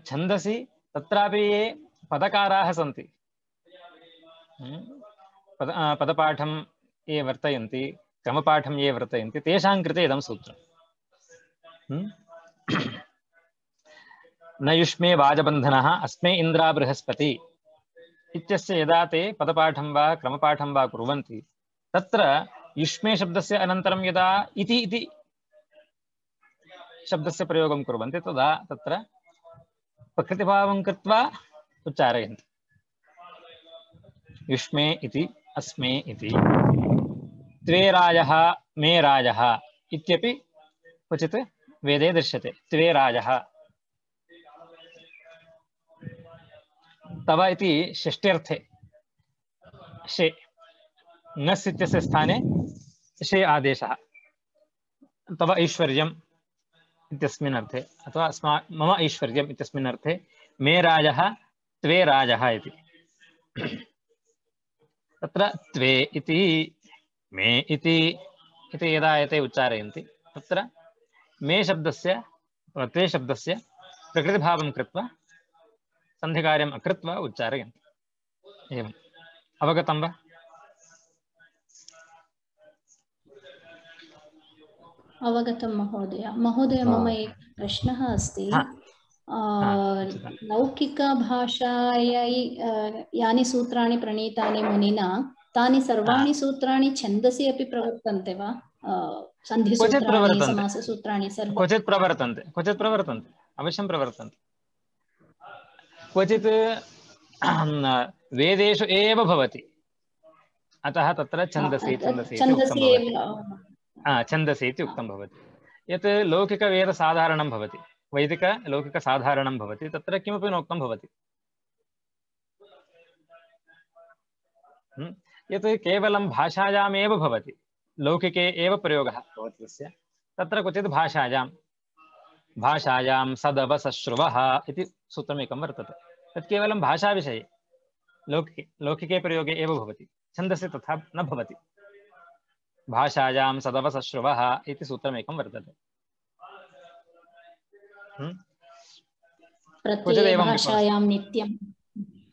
छन्दसि तत्रापि ये पदकाराः सन्ति, पद पदपाठं ये वर्तयन्ति, क्रमपाठं ये वर्तयन्ति, तेषां कृते इदं सूत्रम्। न युष्मे वाजबन्धनः अस्मे इन्द्रा बृहस्पति इत्यस्य यदा ते पदपाठं वा क्रमपाठं वा कुर्वन्ति, तत्र युष्मे शब्दस्य अनन्तरं यदा इति इति शब्दस्य प्रयोगं कुर्वन्ति तदा तत्र प्रकृतिभावं कृत्वा उच्चारयन्ति। युष्मे इति, अस्मे इति, त्वे राजः मे राजः इत्यपि क्वचित् वेदे दृश्यते। त्वे राजः, तव इति षष्ट्यर्थे शे, नस् इत्यस्य स्थाने शे आदेशः। तव ऐश्वर्यम् इत्यस्मिन् अर्थे अथवा अस्मा मम ऐश्वर्यम् इत्यस्मिन् अर्थे मे राजः त्वे राजः इति। तत्र त्वे इति मे इति इति यदा एते उच्चारयन्ति तत्र मे शब्दस्य त्वे शब्दस्य प्रकृतिभावं कृत्वा सन्धिकार्यम् अकृत्वा उच्चारयन्ति। एवम् अवगतं वा? अवगतं महोदय। महोदय मम एक प्रश्नः अस्ति। लौकिकभाषायै यानि सूत्राणि प्रणीतानि मुनिना तानि सर्वाणि सूत्राणि छन्दसि अपि प्रवर्तन्ते वा? सन्धिसूत्राणि, समाससूत्राणि सर्वं क्वचित् प्रवर्तन्ते, क्वचित् प्रवर्तन्ते, अवश्यं प्रवर्तन्ते। क्वचित् वेदेषु एव भवति, अतः तत्र छन्दसि छन्दसि इति उक्तं भवति। छन्दसि इति उक्तं भवति। यत् लौकिकवेदसाधारणं भवति, वैदिकलौकिकसाधारणं भवति, तत्र किमपि नोक्तं भवति। यत् केवलं भाषायामेव भवति, लौकिके एव प्रयोगः भवति तस्य, तत्र क्वचित् भाषायां भाषायां सदवसश्रुवः इति सूत्रमेकं वर्तते। तत् केवलं भाषाविषये, लौकिके लौकिके प्रयोगे एव भवति, छन्दसि तथा न भवति। भाषायां सदवसश्रुवः इति सूत्रमेकं वर्तते। भाषायां नित्यं,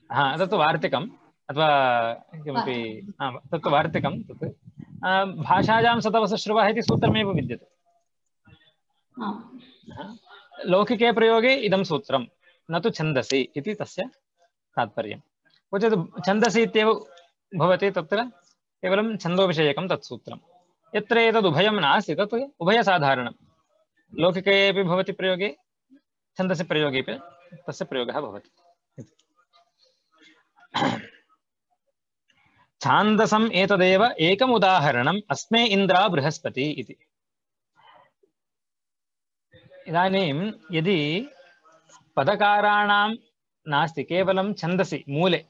हा तत्तु वार्तिकम् अथवा किमपि तत्तु वार्तिकं। तत् भाषायां सदवसश्रुवः इति सूत्रमेव विद्यते। लौकिके प्रयोगे इदं सूत्रं, न तु छन्दसि इति तस्य तात्पर्यं। क्वचित् छन्दसि इत्येव भवति, तत्र केवलं छन्दोविषयकं तत् सूत्रं। यत्र एतदुभयं नास्ति तत् उभयसाधारणं, लौकिके अपि भवति प्रयोगे, छन्दसि प्रयोगे अपि तस्य प्रयोगः भवति। छान्दसम् एतदेव एकम् उदाहरणम् अस्मे इन्द्रा बृहस्पति इति। इदानीं यदि पदकाराणां नास्ति, केवलं छन्दसि मूले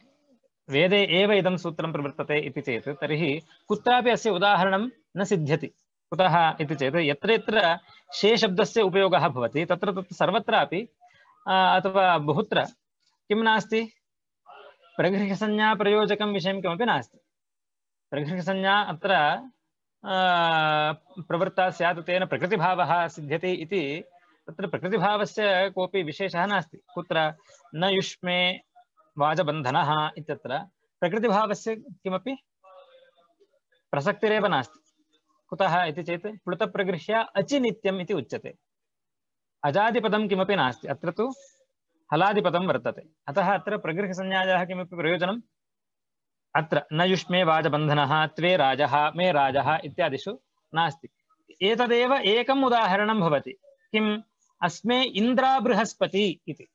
वेदे एव इदं सूत्रं प्रवर्तते इति चेत् तर्हि कुत्रापि अस्य उदाहरणं न सिद्ध्यति। कुतः इति चेत् यत्र यत्र शे शब्दस्य उपयोगः भवति तत्र तत्र सर्वत्रापि अथवा बहुत्र किं नास्ति, प्रगृह्यसंज्ञाप्रयोजकं विषयं किमपि नास्ति। प्रगृह्यसंज्ञा अत्र प्रवृत्ता स्यात्, तेन प्रकृतिभावः सिद्ध्यति इति तत्र प्रकृतिभावस्य कोऽपि विशेषः नास्ति। कुत्र न युष्मे वाजबन्धनः इत्यत्र प्रकृतिभावस्य किमपि प्रसक्तिरेव नास्ति। कुतः इति चेत् प्लुतप्रगृह्य अचिनित्यम् इति उच्यते। अजादिपदं किमपि नास्ति, अत्र तु हलादिपदं वर्तते। अतः अत्र प्रगृह्यसंज्ञायाः किमपि प्रयोजनम् अत्र न युष्मे वाजबन्धनः, त्वे राजः, मे राजः इत्यादिषु नास्ति। एतदेव एकम् उदाहरणं भवति। किम्? अस्मे इन्द्रा बृहस्पति इति।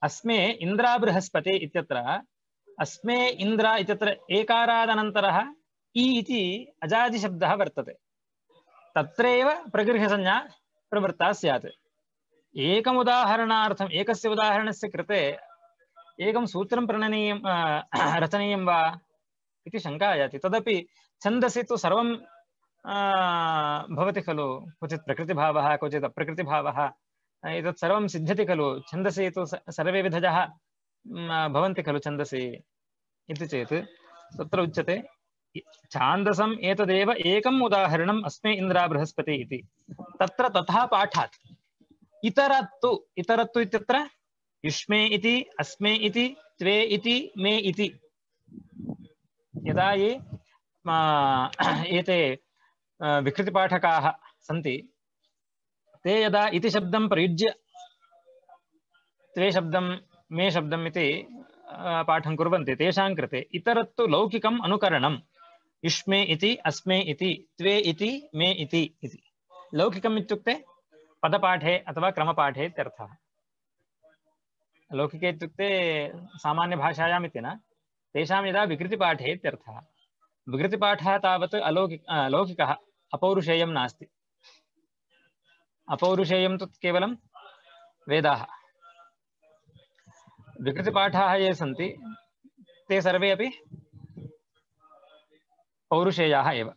अस्मे इन्द्रा बृहस्पति इत्यत्र अस्मे इन्द्रा इत्यत्र एकारादनन्तरः इ इति अजादिशब्दः वर्तते। तत्रैव प्रगृह्यसंज्ञा प्रवृत्ता स्यात्। एकम् उदाहरणार्थम् एकस्य उदाहरणस्य कृते एकं सूत्रं प्रणनीयं रचनीयं वा इति शङ्का याति। तदपि छन्दसि तु सर्वं भवति खलु, क्वचित् प्रकृतिभावः क्वचित् अप्रकृतिभावः, एतत् सर्वं सिद्ध्यति खलु। छन्दसि तु सर्वे विधजः भवन्ति खलु छन्दसि इति चेत् तत्र उच्यते छान्दसम् एतदेव एकम् उदाहरणम् अस्मे इन्द्रा बृहस्पति इति। तत्र तथा पाठात् इतरत्तु इतरत्तु इत्यत्र युष्मे इति, अस्मे इति, त्वे इति, मे इति। यदा ये एते विकृतिपाठकाः सन्ति ते यदा इति शब्दं प्रयुज्य त्वे शब्दं मे शब्दम् इति पाठं कुर्वन्ति, तेषां कृते इतरत्तु लौकिकम् अनुकरणं युष्मे इति, अस्मे इति, त्वे इति, मे इति इति। लौकिकम् इत्युक्ते पदपाठे अथवा क्रमपाठे इत्यर्थः। लौकिके इत्युक्ते सामान्यभाषायाम् इति न, तेषां यदा विकृतिपाठे इत्यर्थः। विकृतिपाठः तावत् अलौकिक लौकिकः, अपौरुषेयं नास्ति। अपौरुषेयं तु केवलं वेदाः। विकृतिपाठाः ये सन्ति ते सर्वे अपि पौरुषेयाः एव।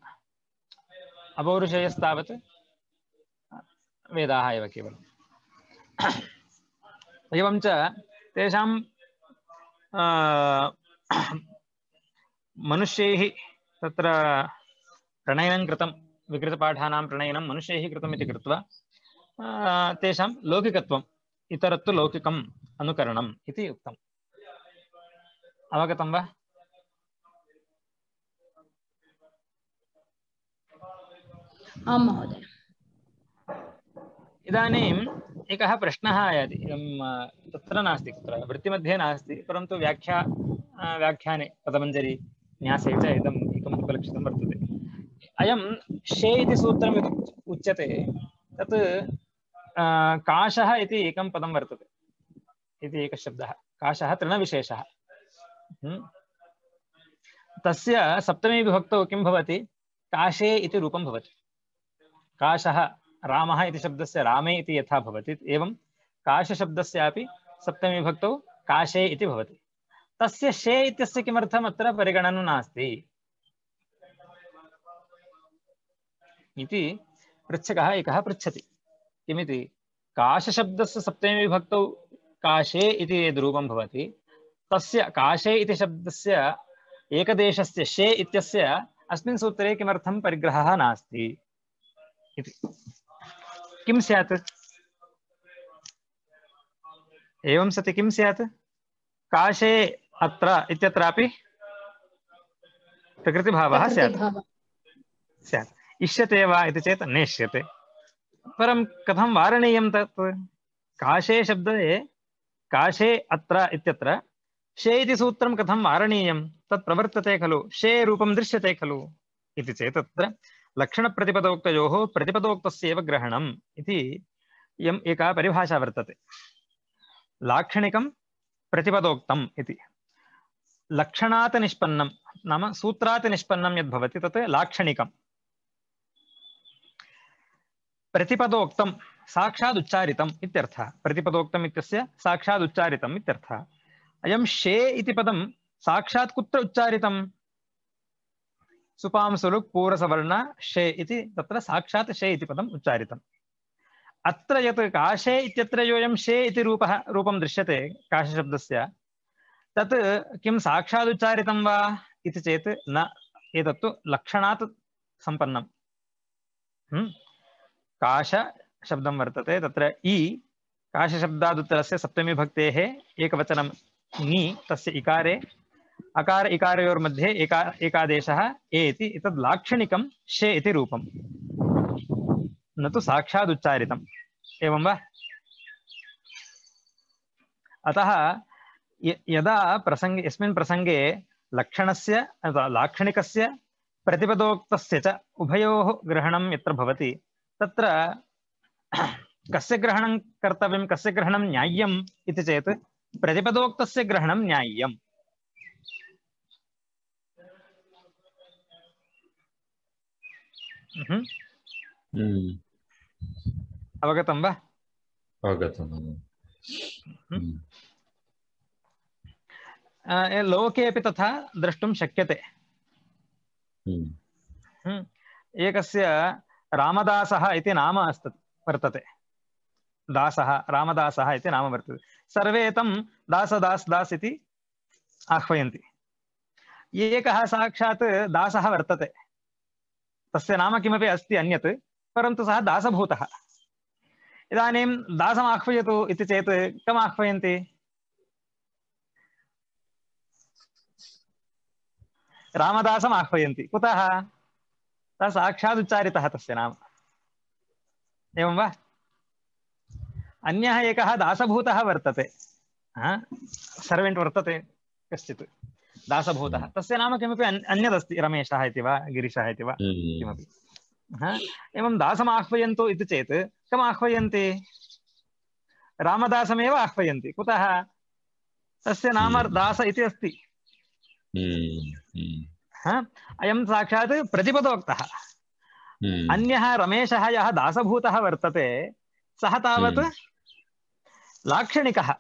अपौरुषेयस्तावत् वेदाः एव केवलम्। एवं च तेषां मनुष्यैः तत्र प्रणयनं कृतं, विकृतपाठानां प्रणयनं मनुष्यैः कृतम् इति कृत्वा तेषां लौकिकत्वम्, इतरत्तु लौकिकम् अनुकरणम् इति उक्तम्। अवगतं वा? आं महोदय। इदानीम् एकः प्रश्नः आयाति, तत्र नास्ति, कुत्र वृत्तिमध्ये नास्ति, परन्तु व्याख्या व्याख्याने पदमञ्जरी न्यासे च इदम् एकम् उपलक्षितं वर्तते। अयं शे इति सूत्रम् उच्यते, तत् काशः इति एकं पदं वर्तते, इति एकः शब्दः। काशः तृणविशेषः। तस्य सप्तमी विभक्तौ किं भवति? काशे इति रूपं भवति। काशः रामः इति शब्दस्य रामे इति यथा भवति, एवं काशशब्दस्यापि सप्तमी विभक्तौ काशे इति भवति। तस्य शे इत्यस्य किमर्थम् अत्र परिगणनं नास्ति इति पृच्छकः एकः पृच्छति। किमिति? काशशब्दस्य सप्तमी विभक्तौ काशे इति यद् रूपं भवति, तस्य काशे इति शब्दस्य एकदेशस्य शे इत्यस्य अस्मिन् सूत्रे किमर्थं परिग्रहः नास्ति इति। किं स्यात्? एवं सति किं स्यात्? काशे अत्र इत्यत्रापि प्रकृतिभावः स्यात् स्यात् इष्यते वा इति चेत् नेष्यते। परं कथं वारणीयं तत्? काशे शब्दे काशे अत्र इत्यत्र शे इति सूत्रं कथं वारणीयं? तत् प्रवर्तते खलु, शे रूपं दृश्यते खलु इति चेत् तत्र लक्षणप्रतिपदोक्तयोः प्रतिपदोक्तस्यैव ग्रहणम् इति इयम् एका परिभाषा वर्तते। लाक्षणिकं प्रतिपदोक्तम् इति। लक्षणात् निष्पन्नं नाम सूत्रात् निष्पन्नं यद् भवति तत् लाक्षणिकम्। प्रतिपदोक्तं साक्षात् उच्चारितम् इत्यर्थः। प्रतिपदोक्तम् इत्यस्य साक्षात् उच्चारितम् इत्यर्थः। अयं शे इति पदं साक्षात् कुत्र उच्चारितं? सुपां सुलुक् पूरसवर्ण शे इति तत्र साक्षात् शे इति पदम् उच्चारितम्। अत्र यत् काशे इत्यत्र योऽयं शे इति रूपः रूपं दृश्यते काशशब्दस्य, तत् किं साक्षात् उच्चारितं वा इति चेत् न, एतत्तु लक्षणात् सम्पन्नं। काश शब्दं वर्तते तत्र इ काशशब्दादुत्तरस्य सप्तमी भक्तेः एकवचनं ङि तस्य इकारे अकार इकारयोर्मध्ये एका एकादेशः ए इति एतद् लाक्षणिकं शे इति रूपं न तु साक्षात् उच्चारितम् एवं वा अतः यदा प्रसंगे यस्मिन् प्रसंगे लक्षणस्य अथवा लाक्षणिकस्य प्रतिपदोक्तस्य च उभयोः ग्रहणं यत्र भवति तत्र कस्य ग्रहणं कर्तव्यं कस्य ग्रहणं न्याय्यम् इति चेत् प्रतिपदोक्तस्य ग्रहणं न्याय्यम् अवगतं वा अवगतं लोके अपि तथा द्रष्टुं शक्यते एकस्य रामदासः इति नाम अस्ति वर्तते दासः रामदासः इति नाम वर्तते सर्वे तं दास दास दास इति आह्वयन्ति एकः साक्षात् दासः वर्तते तस्य नाम किमपि अस्ति अन्यत् परन्तु सः दासभूतः इदानीं दासम् आह्वयतु इति चेत् कम् आह्वयन्ति रामदासम् आह्वयन्ति कुतः सः साक्षात् उच्चारितः तस्य नाम एवं वा अन्यः एकः दासभूतः वर्तते सर्वेण्ट् वर्तते कश्चित् दासभूतः तस्य नाम किमपि अन्यदस्ति रमेशः इति वा गिरीशः इति वा किमपि एवं दासम् आह्वयन्तु इति चेत् कम् आह्वयन्ति रामदासमेव आह्वयन्ति कुतः तस्य नाम दास इति अस्ति अयं साक्षात् प्रतिपदोक्तः अन्यः रमेशः यः दासभूतः वर्तते सः तावत् लाक्षणिकः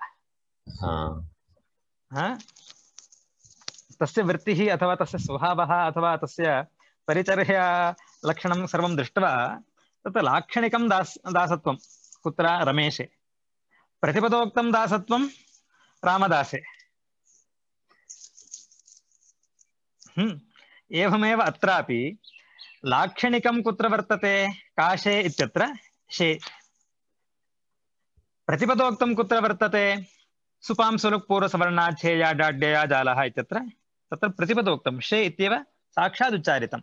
तस्य वृत्तिः अथवा तस्य स्वभावः अथवा तस्य परिचर्या लक्षणं सर्वं दृष्ट्वा तत् लाक्षणिकं दास दासत्वं कुत्र रमेशे प्रतिपदोक्तं दासत्वं रामदासे हम्म एवमेव अत्रापि लाक्षणिकं कुत्र वर्तते काशे इत्यत्र शे प्रतिपदोक्तं कुत्र वर्तते सुपां सुलुक् पूर्वसवर्णाच्छेया डाड्यया जालः इत्यत्र तत्र प्रतिपदोक्तं शे इत्येव साक्षात् उच्चारितम्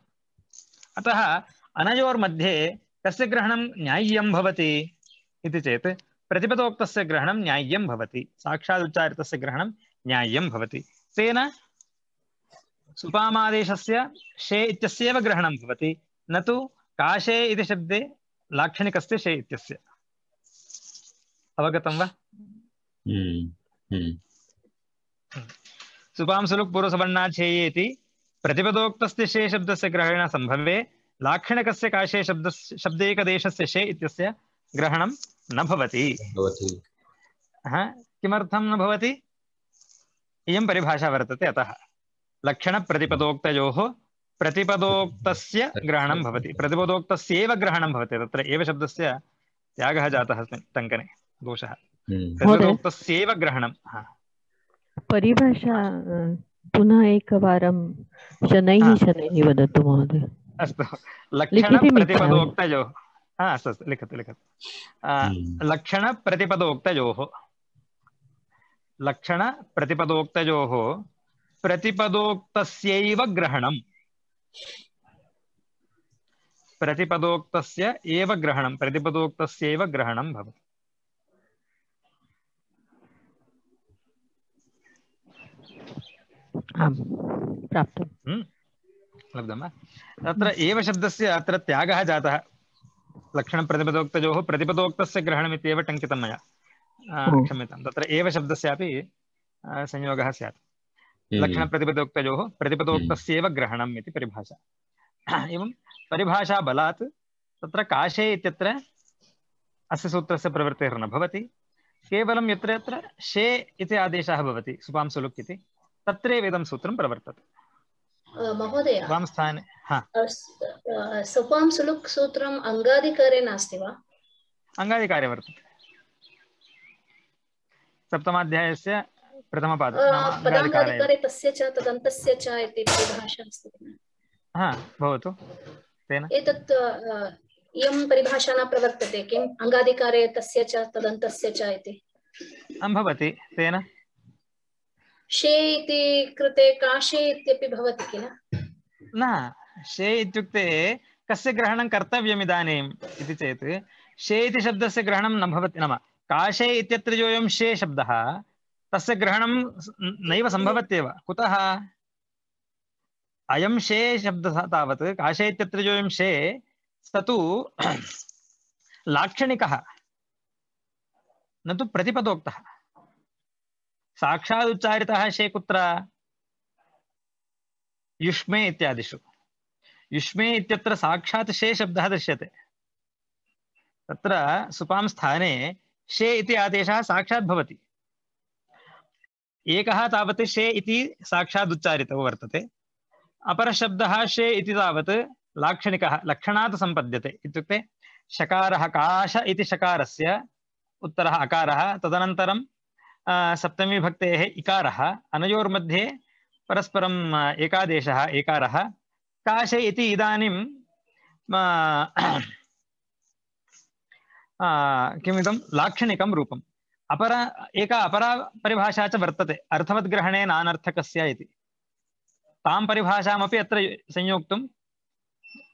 अतः अनयोर्मध्ये कस्य ग्रहणं न्याय्यं भवति इति चेत् प्रतिपदोक्तस्य ग्रहणं न्याय्यं भवति साक्षात् उच्चारितस्य ग्रहणं न्याय्यं भवति तेन सुपामादेशस्य शे इत्यस्यैव ग्रहणं भवति न तु काशे इति शब्दे लाक्षणिकस्य शे इत्यस्य अवगतं वा सुपां सुलुक् पूर्वसवर्णाच्छेये इति प्रतिपदोक्तस्य शे शब्दस्य ग्रहणेन सम्भवे लाक्षणिकस्य काशे शब्दस्य शब्देकदेशस्य शे इत्यस्य ग्रहणं न भवति किमर्थं न भवति इयं परिभाषा वर्तते अतः लक्षणप्रतिपदोक्तयोः प्रतिपदोक्तस्य ग्रहणं भवति प्रतिपदोक्तस्यैव ग्रहणं भवति तत्र एव शब्दस्य त्यागः जातः अस्मिन् टङ्कने दोषः प्रतिपदोक्तस्यैव ग्रहणं परिभाषा पुनः एकवारं शनैः शनैः वदतु महोदय अस्तु लक्षणप्रतिपदोक्तयोः हा अस्तु अस्तु लिखतु लिखतु लक्षणप्रतिपदोक्तयोः लक्षणप्रतिपदोक्तयोः प्रतिपदोक्तस्यैव ग्रहणं प्रतिपदोक्तस्य एव ग्रहणं प्रतिपदोक्तस्यैव ग्रहणं भवति आम् प्राप्तं लब्धं वा तत्र एव शब्दस्य अत्र त्यागः जातः लक्षणप्रतिपदोक्तयोः प्रतिपदोक्तस्य ग्रहणमित्येव टङ्कितं मया क्षम्यतां तत्र एव शब्दस्यापि संयोगः स्यात् लक्षणप्रतिपदोक्तयोः प्रतिपदोक्तस्यैव ग्रहणम् इति परिभाषा एवं परिभाषा बलात् तत्र काशे इत्यत्र अस्य सूत्रस्य प्रवृत्तिर्न भवति केवलं यत्र यत्र शे इति आदेशः भवति सुपां सुलुक् इति तत्रैव इदं सूत्रं प्रवर्तते महोदय वां स्थाने सुपां सुलुक् सूत्रम् अङ्गाधिकारे नास्ति वा अङ्गाधिकारे वर्तते सप्तमाध्यायस्य प्रथमपाद पदाङ्गाधिकारे तस्य च तदन्तस्य च इति परिभाषा अस्ति हा भवतु तेन एतत् इयं परिभाषा न प्रवर्तते किम् अङ्गाधिकारे तस्य च तदन्तस्य च इति भवति तेन शे इति कृते काशे इत्यपि भवति किल न शे इत्युक्ते कस्य ग्रहणं कर्तव्यम् इदानीम् इति चेत् शे इति शब्दस्य ग्रहणं न भवति नाम काशे इत्यत्र योऽयं शे शब्दः तस्य ग्रहणं नैव सम्भवत्येव कुतः अयं शे शब्दः तावत् काशे इत्यत्र योऽयं शे स तु लाक्षणिकः न तु प्रतिपदोक्तः साक्षादुच्चारितः शे कुत्र युष्मे इत्यादिषु युष्मे इत्यत्र साक्षात् शे शब्दः दृश्यते तत्र सुपां स्थाने शे इति आदेशः साक्षात् भवति एकः तावत् शे इति साक्षात् उच्चारितो वर्तते अपरः शब्दः शे इति तावत् लाक्षणिकः लक्षणात् सम्पद्यते इत्युक्ते शकारः काश इति शकारस्य उत्तरः अकारः तदनन्तरं सप्तमी विभक्तेः इकारः अनयोर्मध्ये परस्परम् एकादेशः एकारः काशे इति इदानीं किमिदं लाक्षणिकं रूपम् अपर एका अपरा परिभाषा च वर्तते अर्थवद्ग्रहणे नानर्थकस्य इति तां परिभाषामपि अत्र संयोक्तुं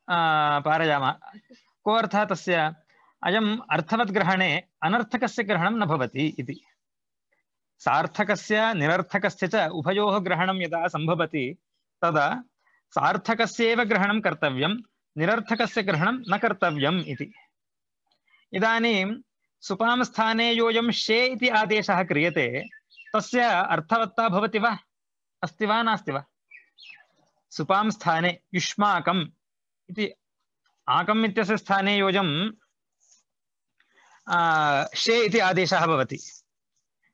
पारयामः को अर्थः तस्य अयम् अर्थवद्ग्रहणे अनर्थकस्य ग्रहणं न भवति इति सार्थकस्य निरर्थकस्य च उभयोः ग्रहणं यदा सम्भवति तदा सार्थकस्यैव ग्रहणं कर्तव्यं निरर्थकस्य ग्रहणं न कर्तव्यम् इति इदानीं सुपां स्थाने योऽयं शे इति आदेशः क्रियते तस्य अर्थवत्ता भवति वा अस्ति वा नास्ति वा सुपां स्थाने युष्माकम् इति आकम् इत्यस्य स्थाने योऽयं शे इति आदेशः भवति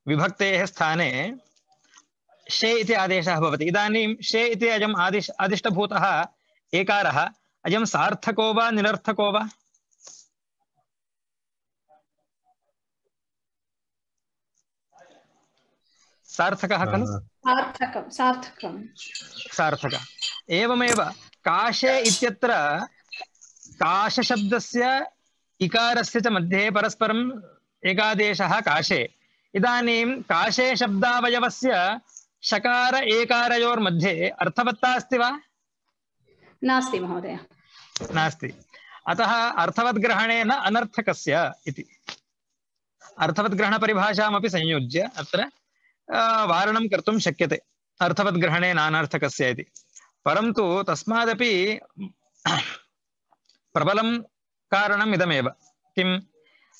विभक्तेः स्थाने शे इति आदेशः भवति इदानीं शे इति अयम् आदिश आदिष्टभूतः एकारः अयं सार्थको वा निरर्थको वा सार्थकः खलु सार्थकं सार्थकं सार्थकः एवमेव काशे इत्यत्र काशशब्दस्य इकारस्य च मध्ये परस्परम् एकादेशः काशे इदानीं काशे शब्दावयवस्य शकार एकारयोर्मध्ये अर्थवत्ता अस्ति वा नास्ति महोदय नास्ति अतः अर्थवद्ग्रहणे न अनर्थकस्य इति अर्थवद्ग्रहणपरिभाषामपि संयोज्य अत्र वारणं कर्तुं शक्यते अर्थवद्ग्रहणे नानर्थकस्य इति परन्तु तस्मादपि प्रबलं कारणम् इदमेव किं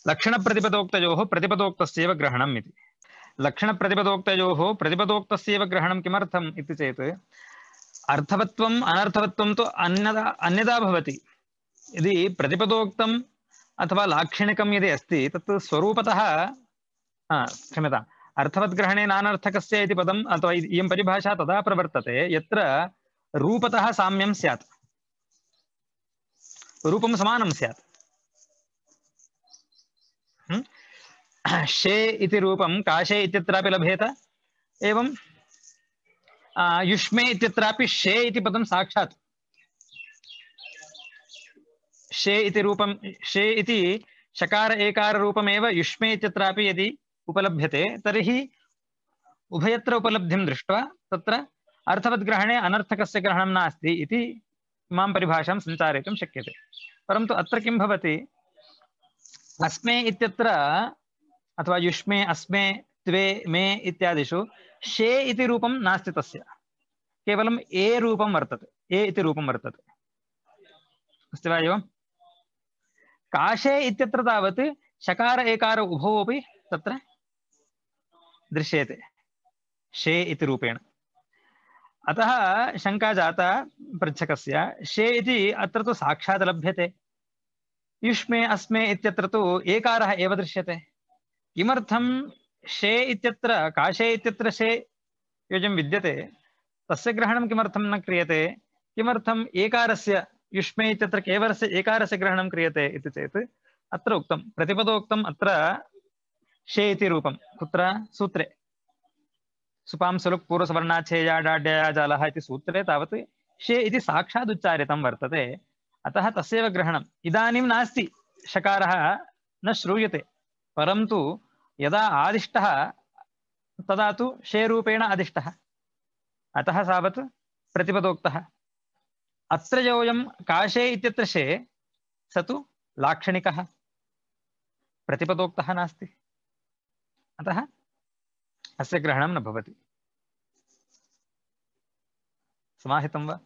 लक्षणप्रतिपदोक्तयोः प्रतिपदोक्तस्यैव ग्रहणम् इति लक्षणप्रतिपदोक्तयोः प्रतिपदोक्तस्यैव ग्रहणं किमर्थम् इति चेत् अर्थवत्वम् अनर्थवत्वं तु अन्यदा अन्यदा भवति यदि प्रतिपदोक्तम् अथवा लाक्षणिकं यदि अस्ति तत् स्वरूपतः क्षम्यताम् अर्थवद्ग्रहणे नानर्थकस्य इति पदम् अथवा इयं परिभाषा तदा प्रवर्तते यत्र रूपतः साम्यं स्यात् रूपं समानं स्यात् शे इति रूपं काशे इत्यत्रापि लभेत एवं युष्मे इत्यत्रापि शे इति पदं साक्षात् शे इति रूपं शे इति शकार एकार रूपमेव युष्मे इत्यत्रापि यदि उपलभ्यते तर्हि उभयत्र उपलब्धिं दृष्ट्वा तत्र अर्थवद्ग्रहणे अनर्थकस्य ग्रहणं नास्ति इति इमां परिभाषां सञ्चारयितुं शक्यते परन्तु अत्र किं भवति अस्मे इत्यत्र अथवा युष्मे अस्मे त्वे मे इत्यादिषु शे इति रूपं नास्ति तस्य केवलम् ए रूपं वर्तते ए इति रूपं वर्तते अस्ति वा एवं काशे इत्यत्र तावत् शकार एकार उभौ अपि तत्र दृश्यते शे इति रूपेण अतः शंका जाता पृच्छकस्य शे इति अत्र तु साक्षात् लभ्यते युष्मे अस्मे इत्यत्र तु एकारः एव दृश्यते किमर्थं शे इत्यत्र काशे इत्यत्र शे योजं विद्यते तस्य ग्रहणं किमर्थं न क्रियते किमर्थम् एकारस्य युष्मे इत्यत्र केवलस्य एकारस्य ग्रहणं क्रियते इति चेत् अत्र उक्तं प्रतिपदोक्तम् अत्र शे इति रूपं कुत्र सूत्रे सुपां सुलुक् पूर्वसवर्णाच्छेया डाड्या जालः इति सूत्रे तावत् शे इति साक्षात् उच्चारितं वर्तते अतः तस्यैव ग्रहणम्। इदानीं नास्ति, शकारः न श्रूयते, परन्तु यदा आदिष्टः तदा तु शेरूपेण आदिष्टः, अतः सावत् प्रतिपदोक्तः। अत्र योऽयं काशे इत्यत्र शे स तु लाक्षणिकः, प्रतिपदोक्तः नास्ति, अतः अस्य ग्रहणं न भवति। समाहितं वा?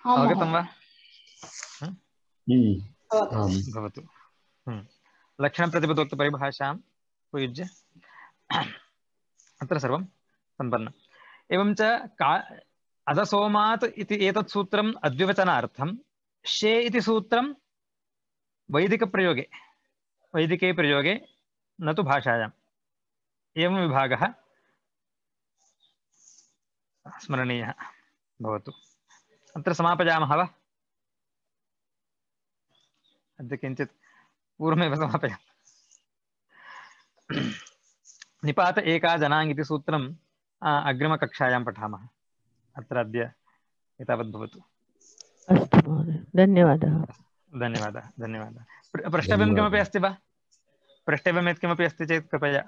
अवगतं वा? भवतु। लक्षणप्रतिपदोक्तपरिभाषां उपयुज्य अत्र सर्वं सम्पन्नम्। एवं च का अधसोमात् इति एतत् सूत्रम् अद्विवचनार्थं, शे इति सूत्रं वैदिकप्रयोगे वैदिके प्रयोगे न तु भाषायाम्। एवं विभागः स्मरणीयः भवतु। अत्र समापयामः वा? अद्य किञ्चित् पूर्वमेव समापयामः। निपात एका जनाङ् इति सूत्रम् अग्रिमकक्षायां पठामः। अत्र अद्य एतावत् भवतु। अस्तु महोदय, धन्यवादः। धन्यवादः धन्यवादः। प्रष्टव्यं किमपि अस्ति वा? प्रष्टव्यं यत् किमपि अस्ति चेत् कृपया